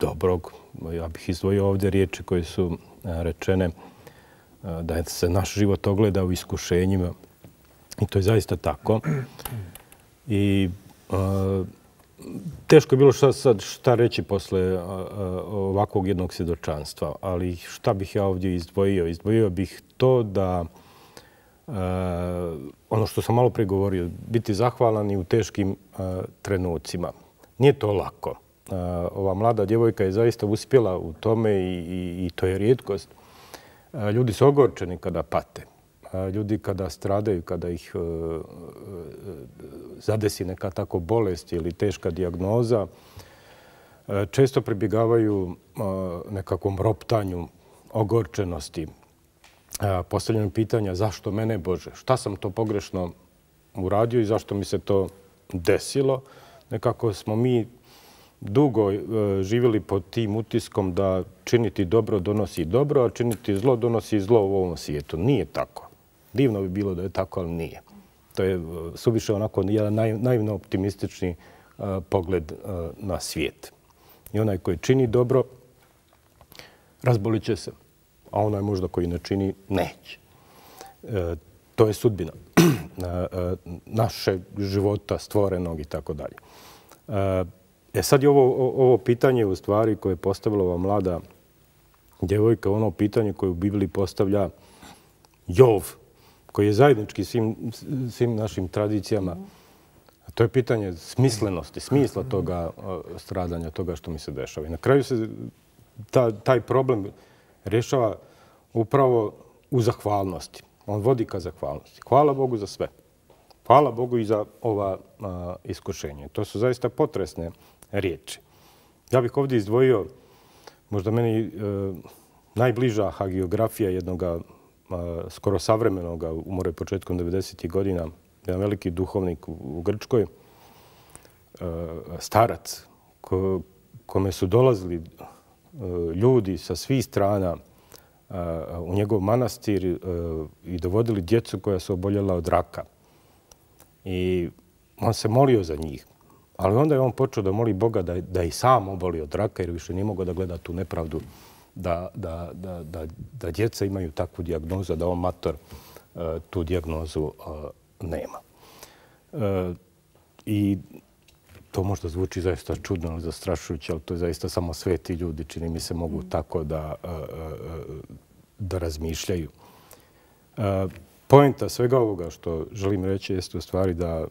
dobrog, ja bih izdvojio ovdje riječi koje su rečene da se naš život ogleda u iskušenjima i to je zaista tako. I teško je bilo šta reći posle ovakvog jednog svjedočanstva, ali šta bih ja ovdje izdvojio? Izdvojio bih to da ono što sam malo prije govorio, biti zahvalan i u teškim trenucima. Nije to lako. Ova mlada djevojka je zaista uspjela u tome i to je rijetkost. Ljudi su ogorčeni kada pate. Ljudi kada stradaju, kada ih zadesi neka tako bolest ili teška dijagnoza, često pribjegavaju nekakvom roptanju, ogorčenosti, postavljanju pitanja zašto mene, Bože, šta sam to pogrešno uradio i zašto mi se to desilo. Nekako smo mi dugo živjeli pod tim utiskom da činiti dobro donosi dobro, a činiti zlo donosi zlo u ovom svijetu. Nije tako. Divno bi bilo da je tako, ali nije. To je suviše onako jedan naivno optimistični pogled na svijet. I onaj koji čini dobro, razbolit će se, a onaj možda koji ne čini, neće. To je sudbina našeg života, stvorenog i tako dalje. Sad je ovo pitanje u stvari koje je postavila ova mlada djevojka, ono pitanje koje u Bibliji postavlja Jov, koji je zajednički svim našim tradicijama. To je pitanje smislenosti, smisla toga stradanja, toga što mi se dešava. I na kraju se taj problem rješava upravo u zahvalnosti. On vodi ka zahvalnosti. Hvala Bogu za sve. Hvala Bogu i za ova iskušenja. To su zaista potresne riječi. Ja bih ovdje izdvojio možda meni najbliža hagiografija jednog skoro savremenog, umro je početkom 90. godina, jedan veliki duhovnik u Grčkoj, starac, kome su dolazili ljudi sa svih strana u njegov manastir i dovodili djecu koja su oboljela od raka. I on se molio za njih. Ali onda je on počeo da moli Boga da i sam oboli od raka, jer više nije mogao da gleda tu nepravdu da djeca imaju takvu dijagnozu, da on mator tu dijagnozu nema. I to možda zvuči zaista čudno ili zastrašujuće, ali to je zaista samo sveti ljudi, čini mi se, mogu tako da razmišljaju. Poenta svega ovoga što želim reći jeste u stvari da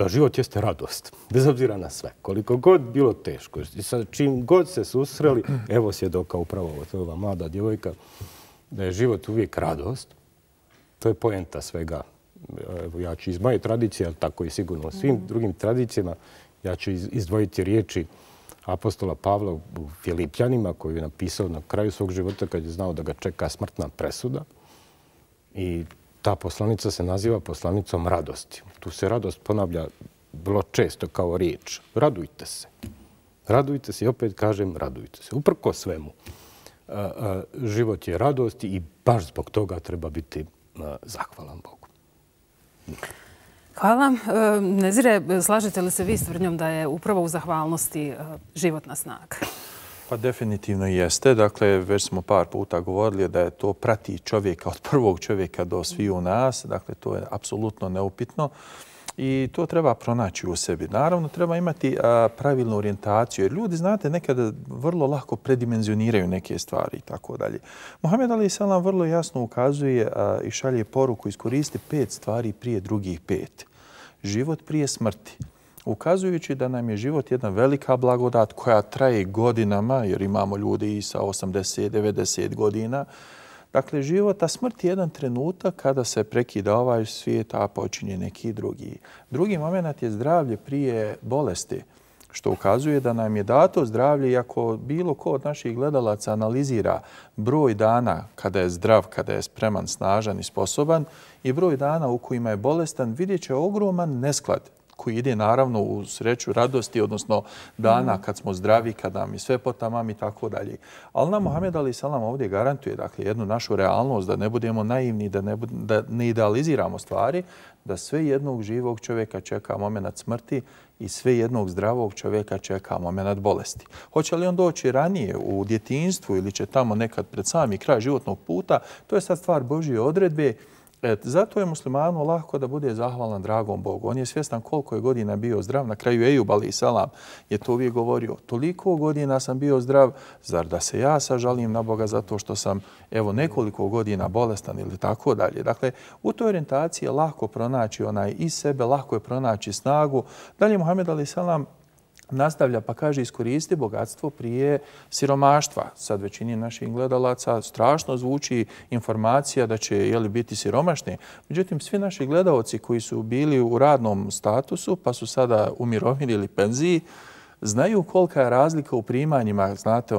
život jeste radost, bez obzira na sve. Koliko god bilo teško, i sa čim god se susreli, evo svjedoka upravo ova mlada djevojka, da je život uvijek radost. To je poenta svega. Evo, ja ću iz moje tradicije, ali tako i sigurno u svim drugim tradicijama, ja ću izdvojiti riječi apostola Pavla u Filipljanima, koju je napisao na kraju svog života kad je znao da ga čeka smrtna presuda. I ta poslanica se naziva poslanicom radosti. Tu se radost ponavlja vrlo često kao riječ. Radujte se. Radujte se i opet kažem radujte se. Uprko svemu. Život je radosti i baš zbog toga treba biti zahvalan Bogu. Hvala. Nezire, slažete li se vi s tvrdnjom da je upravo u zahvalnosti životna snaga? Pa definitivno jeste. Dakle, već smo par puta govorili da je to prati čovjeka od prvog čovjeka do sviju nas. Dakle, to je apsolutno neupitno. I to treba pronaći u sebi. Naravno, treba imati pravilnu orijentaciju. Jer ljudi, znate, nekada vrlo lako predimenzioniraju neke stvari i tako dalje. Muhammed alejhi selam vrlo jasno ukazuje i šalje poruku: iskoristi 5 stvari prije drugih 5. Život prije smrti. Ukazujući da nam je život jedna velika blagodat koja traje godinama, jer imamo ljudi i sa 80, 90 godina. Dakle, život, a smrt je jedan trenutak kada se prekida ovaj svijet, a počinje neki drugi. Drugi moment je zdravlje prije bolesti, što ukazuje da nam je dato zdravlje, iako bilo ko od naših gledalaca analizira broj dana kada je zdrav, kada je spreman, snažan i sposoban i broj dana u kojima je bolestan, vidjet će ogroman nesklad koji ide naravno u sreću radosti, odnosno dana kad smo zdravi, kad nam je sve potamam i tako dalje. Ali nam Muhammed alejhi selam ovdje garantuje, dakle, jednu našu realnost, da ne budemo naivni, da ne idealiziramo stvari, da sve jednog živog čovjeka čeka moment smrti i sve jednog zdravog čovjeka čeka moment bolesti. Hoće li on doći ranije u djetinjstvu ili će tamo nekad pred sami kraj životnog puta, to je sad stvar Božje odredbe. Zato je muslimanu lako da bude zahvalan dragom Bogu. On je svjestan koliko je godina bio zdrav. Na kraju Ejub alejhi selam je to uvijek govorio: toliko godina sam bio zdrav, zar da se ja sažalim na Boga zato što sam evo nekoliko godina bolestan ili tako dalje. Dakle, u toj orijentaciji je lako pronaći iz sebe, lako je pronaći snagu. Dalje Muhammed alejhi selam nastavlja pa kaže: iskoristi bogatstvo prije siromaštva. Sad većini naših gledalaca strašno zvuči informacija da će biti siromašni. Međutim, svi naši gledalci koji su bili u radnom statusu pa su sada u mirovini ili penziji, znaju kolika je razlika u primanjima. Znate,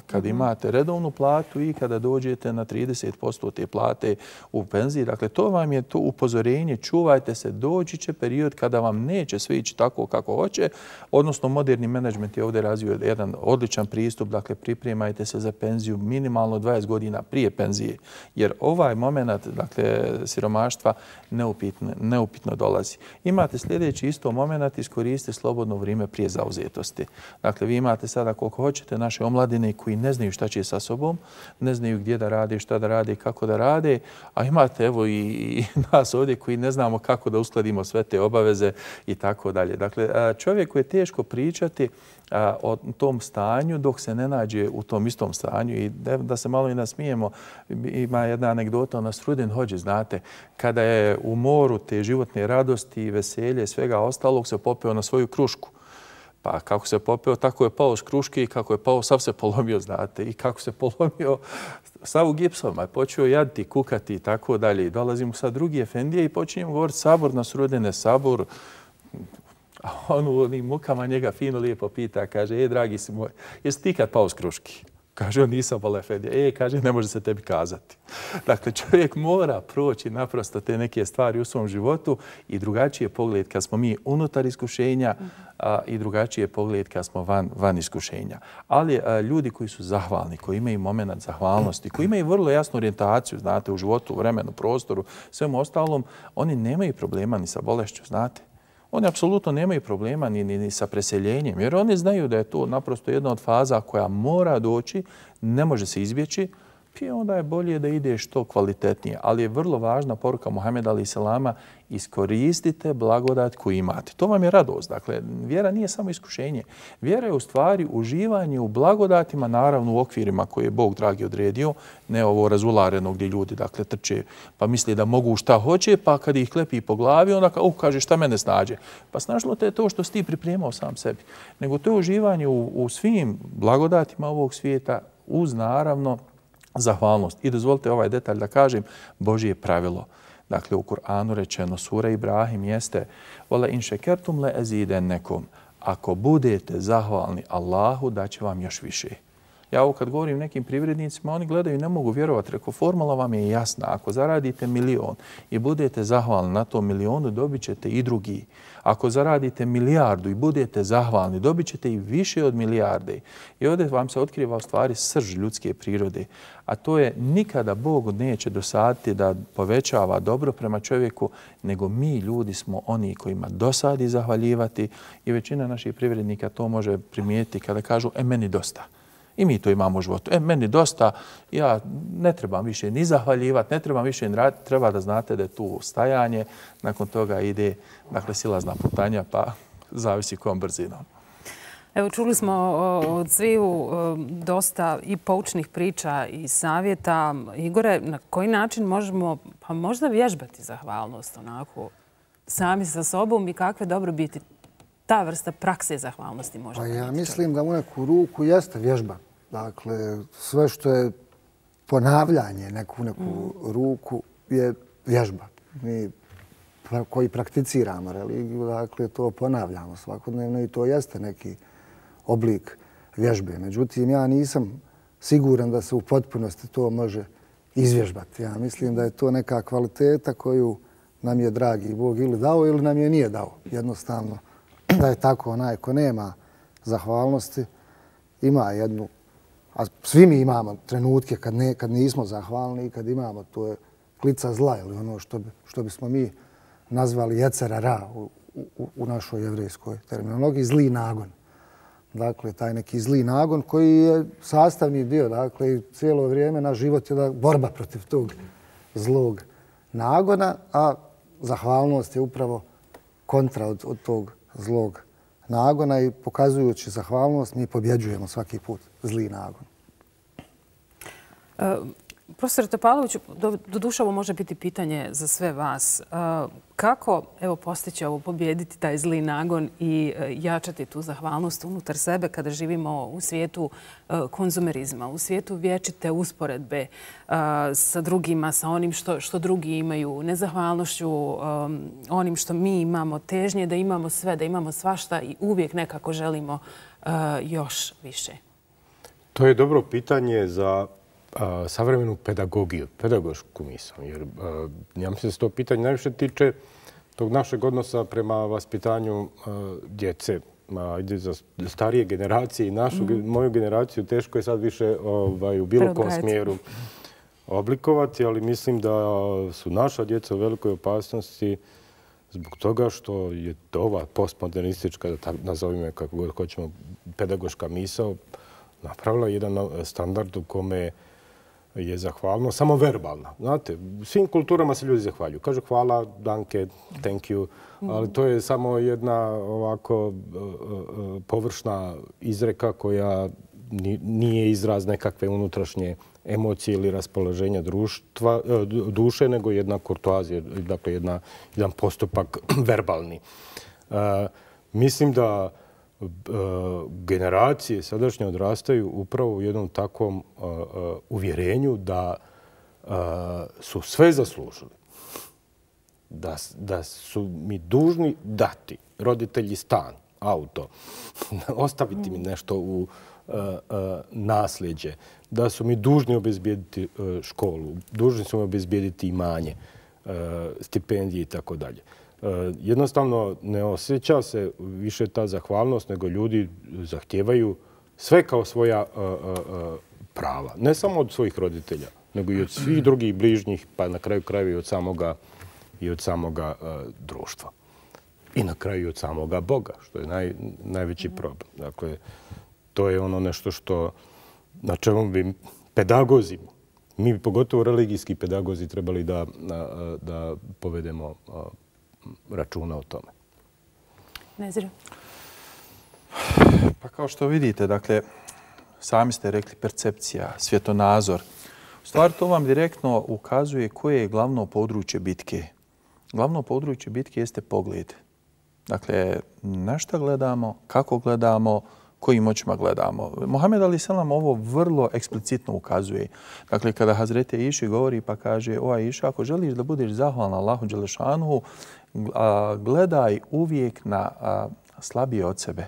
kad imate redovnu platu i kada dođete na 30% te plate u penziji. Dakle, to vam je to upozorenje. Čuvajte se, doći će period kada vam neće sve ići tako kako hoće. Odnosno, moderni menadžment je ovdje razvio jedan odličan pristup. Dakle, pripremajte se za penziju minimalno 20 godina prije penzije. Jer ovaj moment, dakle, siromaštva neupitno dolazi. Imate sljedeći isto moment: iskoristite slobodno vrijeme prije zauzetosti. Dakle, vi imate sada koliko hoćete naše omladine koji ne znaju šta će sa sobom, ne znaju gdje da rade, šta da rade, kako da rade, a imate evo i nas ovdje koji ne znamo kako da uskladimo sve te obaveze i tako dalje. Dakle, čovjeku je teško pričati o tom stanju dok se ne nađe u tom istom stanju. I da se malo i nasmijemo, ima jedna anegdota o Nasrudin Hodži, znate, kada je u moru te životne radosti, veselje, svega ostalog, se popeo na svoju krušku. Pa kako se popeo, tako je pao s kruške i kako je pao, sav se polomio, znate. I kako se polomio, sav u gipsom, a počeo jaditi, kukati i tako dalje. I dolazi mu sad drugi efendije i počinjemo govoriti: sabor Nasrudine, sabor. A on u onim mukama njega fino lijepo pita, kaže: dragi si moj, jesi ti kad pao s kruške? Kaže on: nisam, bol efendija. Kaže, ne može se tebi kazati. Dakle, čovjek mora proći naprosto te neke stvari u svom životu i drugačiji je pogled kad smo mi unutar iskušenja i drugačiji je pogled kad smo van iskušenja. Ali ljudi koji su zahvalni, koji imaju moment zahvalnosti, koji imaju vrlo jasnu orijentaciju, znate, u životu, u vremenu, prostoru, svemu ostalom, oni nemaju problema ni sa bolešću, znate. Oni apsolutno nemaju problema ni sa preseljenjem, jer oni znaju da je to naprosto jedna od faza koja mora doći, ne može se izbjeći. i onda je bolje da ide što kvalitetnije. Ali je vrlo važna poruka Muhameda alejhi selama, iskoristite blagodat koju imate. To vam je radost. Dakle, vjera nije samo iskušenje. Vjera je u stvari uživanje u blagodatima, naravno u okvirima koje je Bog dragi odredio, ne ovo razulareno gdje ljudi dakle trče pa misle da mogu šta hoće, pa kad ih klepi po glavi, onda kaže šta mene snađe. Pa snažilo te je to što si ti pripremao sam sebi. Nego to je uživanje u svim blagodatima ovog svijeta uz naravno zahvalnost. I dozvolite ovaj detalj da kažem, Božje pravilo. Dakle, u Kur'anu rečeno, sura Ibrahim jeste Wala in šekertum le ezidennekum. Ako budete zahvalni Allahu, daće vam još više. Ja ovo kad govorim nekim privrednicima, oni gledaju i ne mogu vjerovati. Rekao, formula vam je jasna. Ako zaradite 1.000.000 i budete zahvalni na tom 1.000.000, dobit ćete i drugi. Ako zaradite 1 milijardu i budete zahvalni, dobit ćete i više od 1 milijarde. I ovdje vam se otkriva u stvari srž ljudske prirode. A to je nikada Bog neće dosaditi da povećava dobro prema čovjeku, nego mi ljudi smo oni kojima dosadi zahvaljivati i većina naših privrednika to može primijetiti kada kažu meni dosta. I mi to imamo u životu. Meni dosta, ja ne trebam više ni zahvaljivati, ne trebam više ni raditi, treba da znate da je tu stajanje, nakon toga ide dakle, silazna putanja, pa zavisi kojom brzinom. Evo, čuli smo od sviju dosta i poučnih priča i savjeta. Igore, na koji način možemo pa možda vježbati zahvalnost onako sami sa sobom i kakve dobrobiti ta vrsta prakse zahvalnosti može? Pa ja mislim da u neku ruku jeste vježba. Dakle, sve što je ponavljanje neku ruku je vježba. Mi koji prakticiramo religiju, dakle, to ponavljamo svakodnevno i to jeste neki oblik vježbe. Međutim, ja nisam siguran da se u potpunosti to može izvježbati. Ja mislim da je to neka kvaliteta koju nam je dragi Bog ili dao ili nam je nije dao. Jednostavno, da je tako onaj ko nema zahvalnosti, ima jednu, a svi mi imamo trenutke kad nismo zahvalni i kad imamo, to je klica zla ili ono što bismo mi nazvali jecera ra u našoj jevrejskoj terminologiji, zli nagon. Dakle, taj neki zli nagon koji je sastavni dio, dakle, i cijelo vrijeme naš život je borba protiv tog zlog nagona, a zahvalnost je upravo kontra od tog zlog nagona i pokazujući zahvalnost mi pobjeđujemo svaki put zli nagon. Profesor Topalović, doduše ovo može biti pitanje za sve vas. Kako postići ovo, pobjediti taj zli nagon i jačati tu zahvalnost unutar sebe kada živimo u svijetu konzumerizma, u svijetu vječite usporedbe sa drugima, sa onim što drugi imaju, nezahvalnošću onim što mi imamo, težnje da imamo sve, da imamo svašta i uvijek nekako želimo još više? To je dobro pitanje za savremenu pedagogiju, pedagošku misao. Jer ja mislim da se to pitanje najviše tiče tog našeg odnosa prema vaspitanju djece. Ide za starije generacije i moju generaciju teško je sad više u bilo kom smjeru oblikovati, ali mislim da su naša djeca u velikoj opasnosti zbog toga što je ova postmodernistička, da nazovime kako god hoćemo, pedagoška misao napravila jedan standard u kome je zahvalno, samo verbalna. Znate, u svim kulturama se ljudi zahvaljuju. Kažu hvala, danke, thank you, ali to je samo jedna ovako površna izreka koja nije izraz nekakve unutrašnje emocije ili raspoloženja duše, nego jedna kurtoazija, dakle jedan postupak verbalni. Mislim da generacije sadašnje odrastaju upravo u jednom takvom uvjerenju da su sve zaslužili. Da su mi dužni dati roditelji stan, auto, ostaviti mi nešto u nasljeđe, da su mi dužni obezbijediti školu, dužni su mi obezbijediti imanje, stipendije i tako dalje. Jednostavno ne osjeća se više ta zahvalnost, nego ljudi zahtijevaju sve kao svoja prava. Ne samo od svojih roditelja, nego i od svih drugih bližnjih, pa na kraju krajeva i od samoga društva. I na kraju i od samoga Boga, što je najveći problem. Dakle, to je ono nešto na čemu bi pedagozi mi pogotovo religijski pedagozi trebali da povedemo računa o tome. Nezir? Pa kao što vidite, dakle, sami ste rekli percepcija, svjetonazor. U stvari to vam direktno ukazuje koje je glavno područje bitke. Glavno područje bitke jeste pogled. Dakle, na šta gledamo, kako gledamo, kojim očima gledamo. Mohamed a.s. ovo vrlo eksplicitno ukazuje. Dakle, kada Hazreti Iši govori pa kaže, o Iša, ako želiš da budeš zahvalan Allahu Đelešanuhu, gledaj uvijek na slabije od sebe.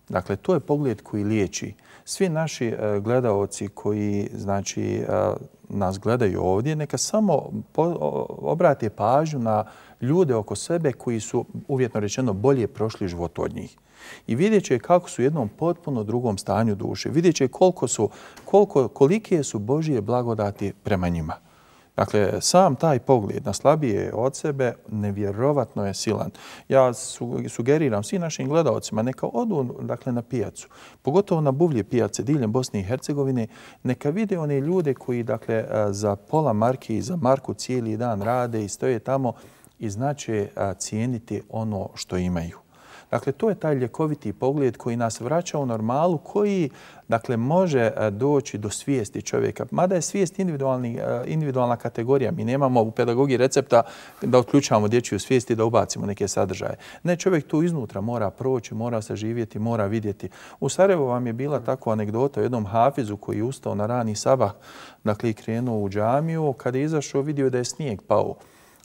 Dakle, to je pogled koji liječi. Svi naši gledaoci koji nas gledaju ovdje, neka samo obrate pažnju na ljude oko sebe koji su, uvjetno rečeno, bolje prošli život od njih. I vidjet će kako su u jednom potpuno drugom stanju duše. Vidjet će kolike su Božije blagodati prema njima. Dakle, sam taj pogled na slabije od sebe nevjerovatno je silan. Ja sugeriram svim našim gledaocima neka odu na pijacu, pogotovo na buvlje pijace diljem Bosne i Hercegovine, neka vide one ljude koji za pola marke i za marku cijeli dan rade i stoje tamo i znače cijeniti ono što imaju. Dakle, to je taj ljekoviti pogled koji nas vraća u normalu, koji može doći do svijesti čovjeka. Mada je svijest individualna kategorija. Mi nemamo u pedagogiji recepta da otključamo dječju svijest i da ubacimo neke sadržaje. Ne, čovjek tu iznutra mora proći, mora saživjeti, mora vidjeti. U Sarajevu vam je bila takva anegdota o jednom hafizu koji je ustao na rani sabah, i krenuo u džamiju. Kada je izašao, vidio da je snijeg pao.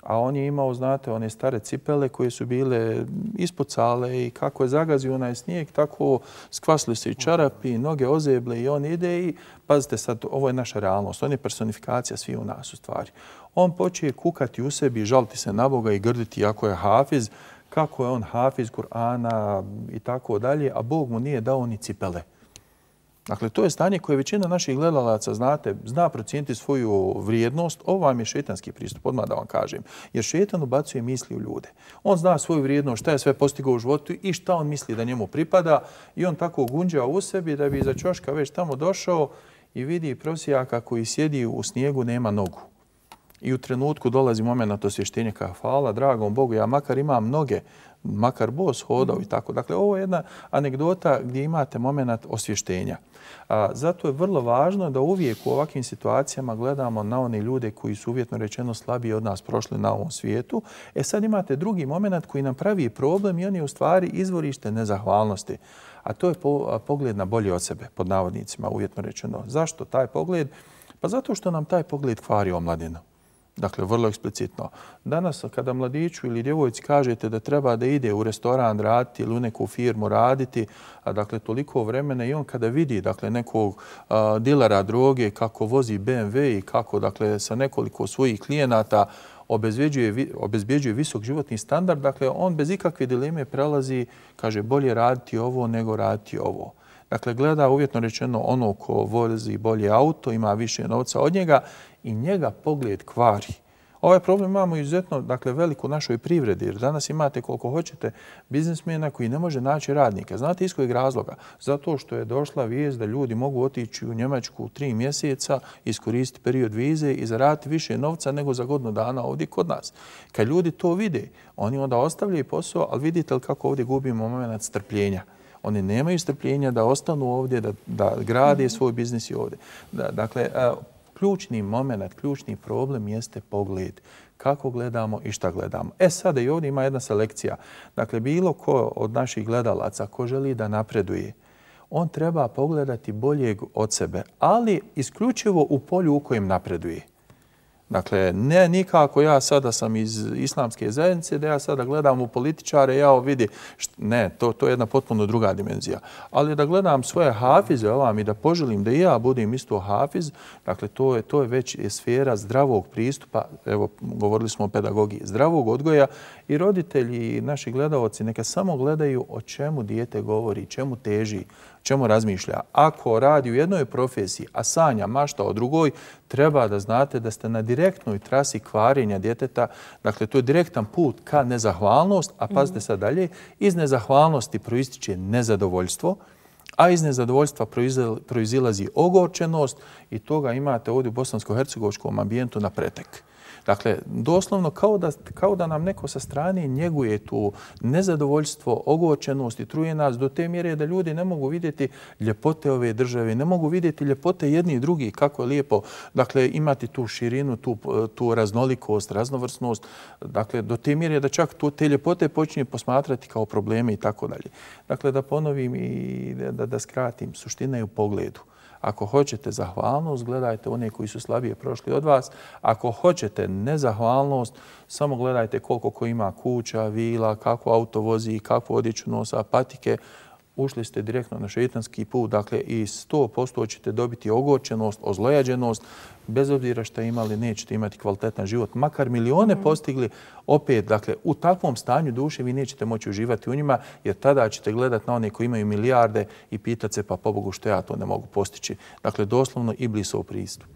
A on je imao, one stare cipele koje su bile ispucale i kako je zagazio onaj snijeg, tako skvasili se i čarapi, i noge ozeble i on ide i, pazite sad, ovo je naša realnost, on je personifikacija svi u nas u stvari. On počeje kukati u sebi, žaliti se na Boga i grditi ako je hafiz, kako je on hafiz Kur'ana i tako dalje, a Bog mu nije dao ni cipele. Dakle, to je stanje koje većina naših gledalaca, zna procijeniti svoju vrijednost. Ovo vam je šetanski pristup, odmah da vam kažem. Jer šetan ubacuje misli u ljude. On zna svoju vrijednost, šta je sve postigao u životu i šta on misli da njemu pripada. I on tako gunđa u sebi da bi iza ćoška već tamo došao i vidi prosjaka koji sjedi u snijegu, nema nogu. I u trenutku dolazi moment osvještenja kao hvala dragom Bogu, ja makar imam noge, makar bos hodao i tako. Dakle, ovo je jedna anegdota gdje imate moment osvještenja. Zato je vrlo važno da uvijek u ovakvim situacijama gledamo na one ljude koji su uvjetno rečeno slabiji od nas prošli na ovom svijetu. Sad imate drugi moment koji nam pravi problem i on je u stvari izvorište nezahvalnosti. A to je pogled na bolje od sebe, pod navodnicima uvjetno rečeno. Zašto taj pogled? Pa zato što nam taj pogled kvari omladinu. Dakle, vrlo eksplicitno. Danas kada mladiću ili djevojci kažete da treba da ide u restoran raditi ili u neku firmu raditi, dakle, toliko vremena i on kada vidi nekog dilera droge kako vozi BMW i kako sa nekoliko svojih klijenata obezbjeđuje visok životni standard, dakle, on bez ikakve dileme prelazi, kaže, bolje raditi ovo nego raditi ovo. Dakle, gleda uvjetno rečeno ono ko vozi bolje auto, ima više novca od njega i njega pogled kvari. Ovaj problem imamo izuzetno velik u našoj privredi, jer danas imate koliko hoćete biznismena koji ne može naći radnika. Znate iz kojeg razloga? Zato što je došla vijest da ljudi mogu otići u Njemačku 3 mjeseca, iskoristiti period vize i zaraditi više novca nego za godinu dana ovdje kod nas. Kad ljudi to vide, oni onda ostavljaju posao, ali vidite li kako ovdje gubimo moment strpljenja. Oni nemaju strpljenja da ostanu ovdje, da grade svoj biznis i ovdje. Dakle, ključni moment, ključni problem jeste pogled. Kako gledamo i šta gledamo. Sada i ovdje ima jedna selekcija. Dakle, bilo ko od naših gledalaca ko želi da napreduje, on treba pogledati boljeg od sebe, ali isključivo u polju u kojem napreduje. Dakle, ne nikako ja sada sam iz islamske zajednice, da ja sada gledam u političare, ja vidi, ne, to je jedna potpuno druga dimenzija. Ali da gledam svoje hafize ovam i da poželim da i ja budem isto hafiz, dakle, to je već sfera zdravog pristupa, evo, govorili smo o pedagogiji, zdravog odgoja i roditelji i naši gledaoci neka samo gledaju o čemu dijete govori, čemu teži, čemu razmišlja. Ako radi u jednoj profesiji, a sanja, mašta o drugoj, treba da znate da ste na direktnoj trasi kvarenja djeteta. Dakle, to je direktan put ka nezahvalnost, a pazite sad dalje, iz nezahvalnosti proističe nezadovoljstvo, A iz nezadovoljstva proizilazi ogorčenost i toga imate ovdje u bosansko-hercegovačkom ambijentu na pretek. Dakle, doslovno kao da nam neko sa strane njeguje tu nezadovoljstvo, ogorčenost i truje nas do te mjere da ljudi ne mogu vidjeti ljepote ove države, ne mogu vidjeti ljepote jedni i drugi, kako je lijepo. Dakle, imati tu širinu, tu raznolikost, raznovrsnost. Dakle, do te mjere da čak te ljepote počinje posmatrati kao probleme i tako dalje. Dakle, da ponovim i da skratim, suština je u pogledu. Ako hoćete zahvalnost, gledajte one koji su slabije prošli od vas. Ako hoćete nezahvalnost, samo gledajte koliko ko ima kuća, vila, kako auto vozi, kakvu odjeću nosa, patike. Ušli ste direktno na šeitanski put, dakle i 100% ćete dobiti ogorčenost, ozlojađenost, bez obzira što imali, nećete imati kvalitetan život. Makar milione postigli, opet, dakle, u takvom stanju duše vi nećete moći uživati u njima, jer tada ćete gledati na one koji imaju milijarde i pitati se, pa pobogu što ja to ne mogu postići. Dakle, doslovno Iblisov pristup.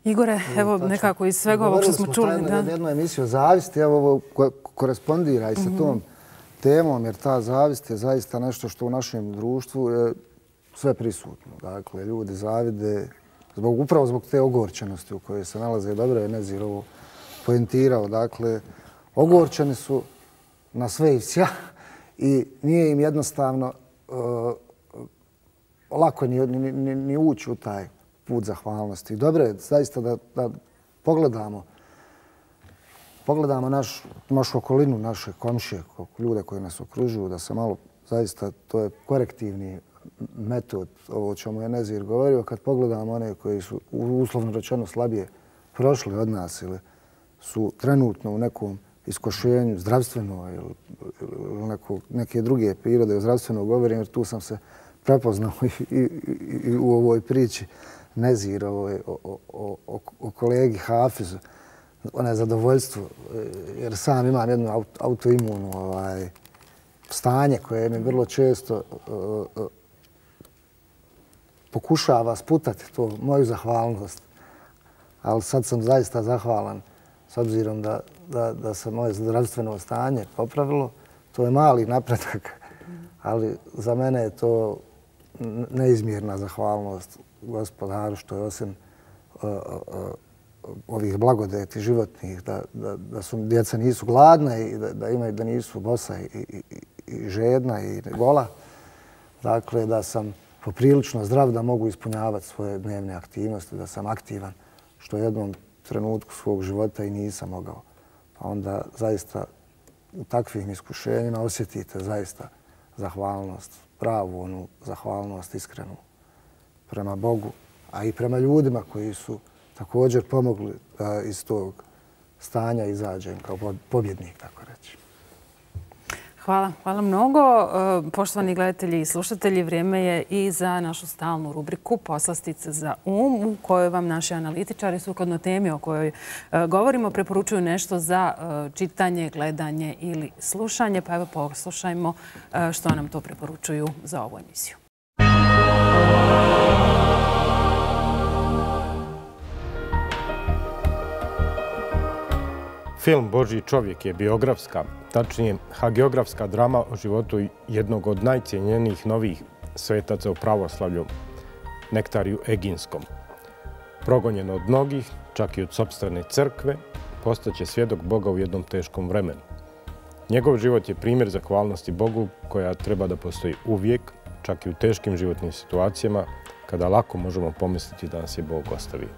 Igore, evo nekako iz svega ovog što smo čuli. Govorili smo jednu emisiju o zavisti, evo ovo korespondira i sa tom temom, jer ta zavist je zaista nešto što u našem društvu je sve prisutno. Dakle, ljudi zavide upravo zbog te ogorčenosti u kojoj se nalaze. Dobro je Nezir ovo poentirao. Dakle, ogorčeni su na sve i sja i nije im jednostavno lako ni ući u taj put zahvalnosti. Dobro je zaista da pogledamo našu okolinu, naše komšije, ljude koji nas okružuju, da se malo, zaista, to je korektivni metod, ovo o čemu je Nezir govorio, kad pogledamo one koji su uslovno rečeno slabije prošli od nas ili su trenutno u nekom iskošenju zdravstveno ili neke druge prirode, zdravstveno govorim, jer tu sam se prepoznao i u ovoj priči Nezir o kolegi Hafizu, ono zadovoljstvo, jer sam imam jedno autoimuno stanje koje mi vrlo često pokušava sputati to moju zahvalnost. Ali sad sam zaista zahvalan s obzirom da se moje zdravstveno stanje popravilo. To je mali napredak, ali za mene je to neizmjerna zahvalnost Gospodaru što je osim ovih blagodeti životnih, da su djeca nisu gladna i da nisu bosa i žedna i gola. Dakle, da sam poprilično zdrav, da mogu ispunjavati svoje dnevne aktivnosti, da sam aktivan, što u jednom trenutku svog života i nisam mogao. Pa onda zaista u takvim iskušenjima osjetite zaista zahvalnost, pravu onu zahvalnost iskrenu prema Bogu, a i prema ljudima koji su također pomogli da iz tog stanja izađem kao pobjednik, tako reći. Hvala mnogo. Poštovani gledatelji i slušatelji, vrijeme je i za našu stalnu rubriku Poslastice za u kojoj vam naši analitičari sukladno temi o kojoj govorimo preporučuju nešto za čitanje, gledanje ili slušanje. Pa evo poslušajmo što nam to preporučuju za ovu emisiju. Film Božji čovjek je biografska, tačnije hagiografska drama o životu jednog od najcijenjenijih novih svetaca u pravoslavlju, Nektariju Eginskom. Progonjen od mnogih, čak i od sopstvene crkve, postaće svjedok Boga u jednom teškom vremenu. Njegov život je primjer zahvalnosti Bogu koja treba da postoji uvijek, čak i u teškim životnim situacijama, kada lako možemo pomisliti da nas je Bog ostavio.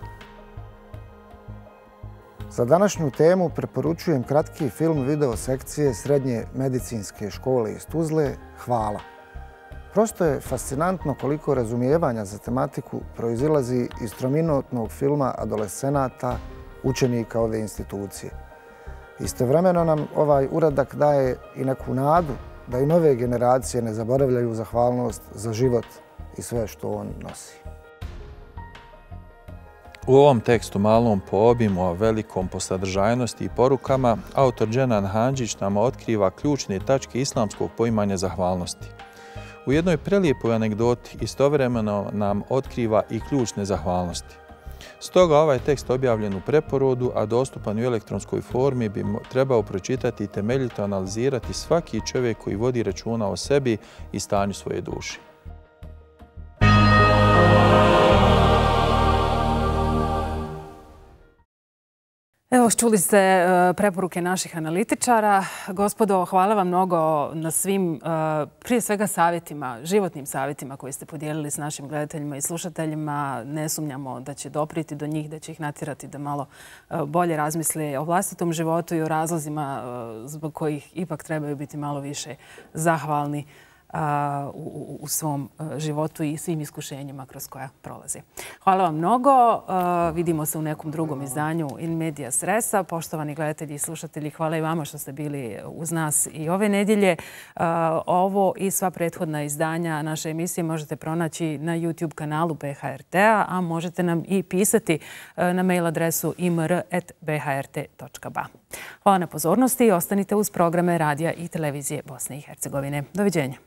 Za današnju temu preporučujem kratki film video sekcije Srednje medicinske škole iz Tuzle Hvala. Prosto je fascinantno koliko razumijevanja za tematiku proizilazi iz trominutnog filma adolescenata, učenika ove institucije. Istovremeno nam ovaj uradak daje i neku nadu da i nove generacije ne zaboravljaju zahvalnost za život i sve što on nosi. U ovom tekstu, malom po obimu, a velikom po sadržajnosti i porukama, autor Dženan Handžić nam otkriva ključne tačke islamskog poimanja zahvalnosti. U jednoj prelijepoj anegdoti istovremeno nam otkriva i ključne zahvalnosti. Stoga ovaj tekst objavljen u preporodu, a dostupan u elektronskoj formi, bi trebao pročitati i temeljito analizirati svaki čovjek koji vodi računa o sebi i stanju svoje duše. Evo, čuli ste preporuke naših analitičara. Gospodo, hvala vam mnogo na svim, prije svega, savjetima, životnim savjetima koje ste podijelili s našim gledateljima i slušateljima. Ne sumnjamo da će dopriti do njih, da će ih natjerati da malo bolje razmisle o vlastitom životu i o razlozima zbog kojih ipak trebaju biti malo više zahvalni u svom životu i svim iskušenjima kroz koja prolazi. Hvala vam mnogo. Vidimo se u nekom drugom izdanju In Medias Resa. Poštovani gledatelji i slušatelji, hvala i vama što ste bili uz nas i ove nedjelje. Ovo i sva prethodna izdanja naše emisije možete pronaći na YouTube kanalu BHRT-a, a možete nam i pisati na mail adresu imr@bhrt.ba. Hvala na pozornosti i ostanite uz programe radija i televizije Bosne i Hercegovine. Doviđenja.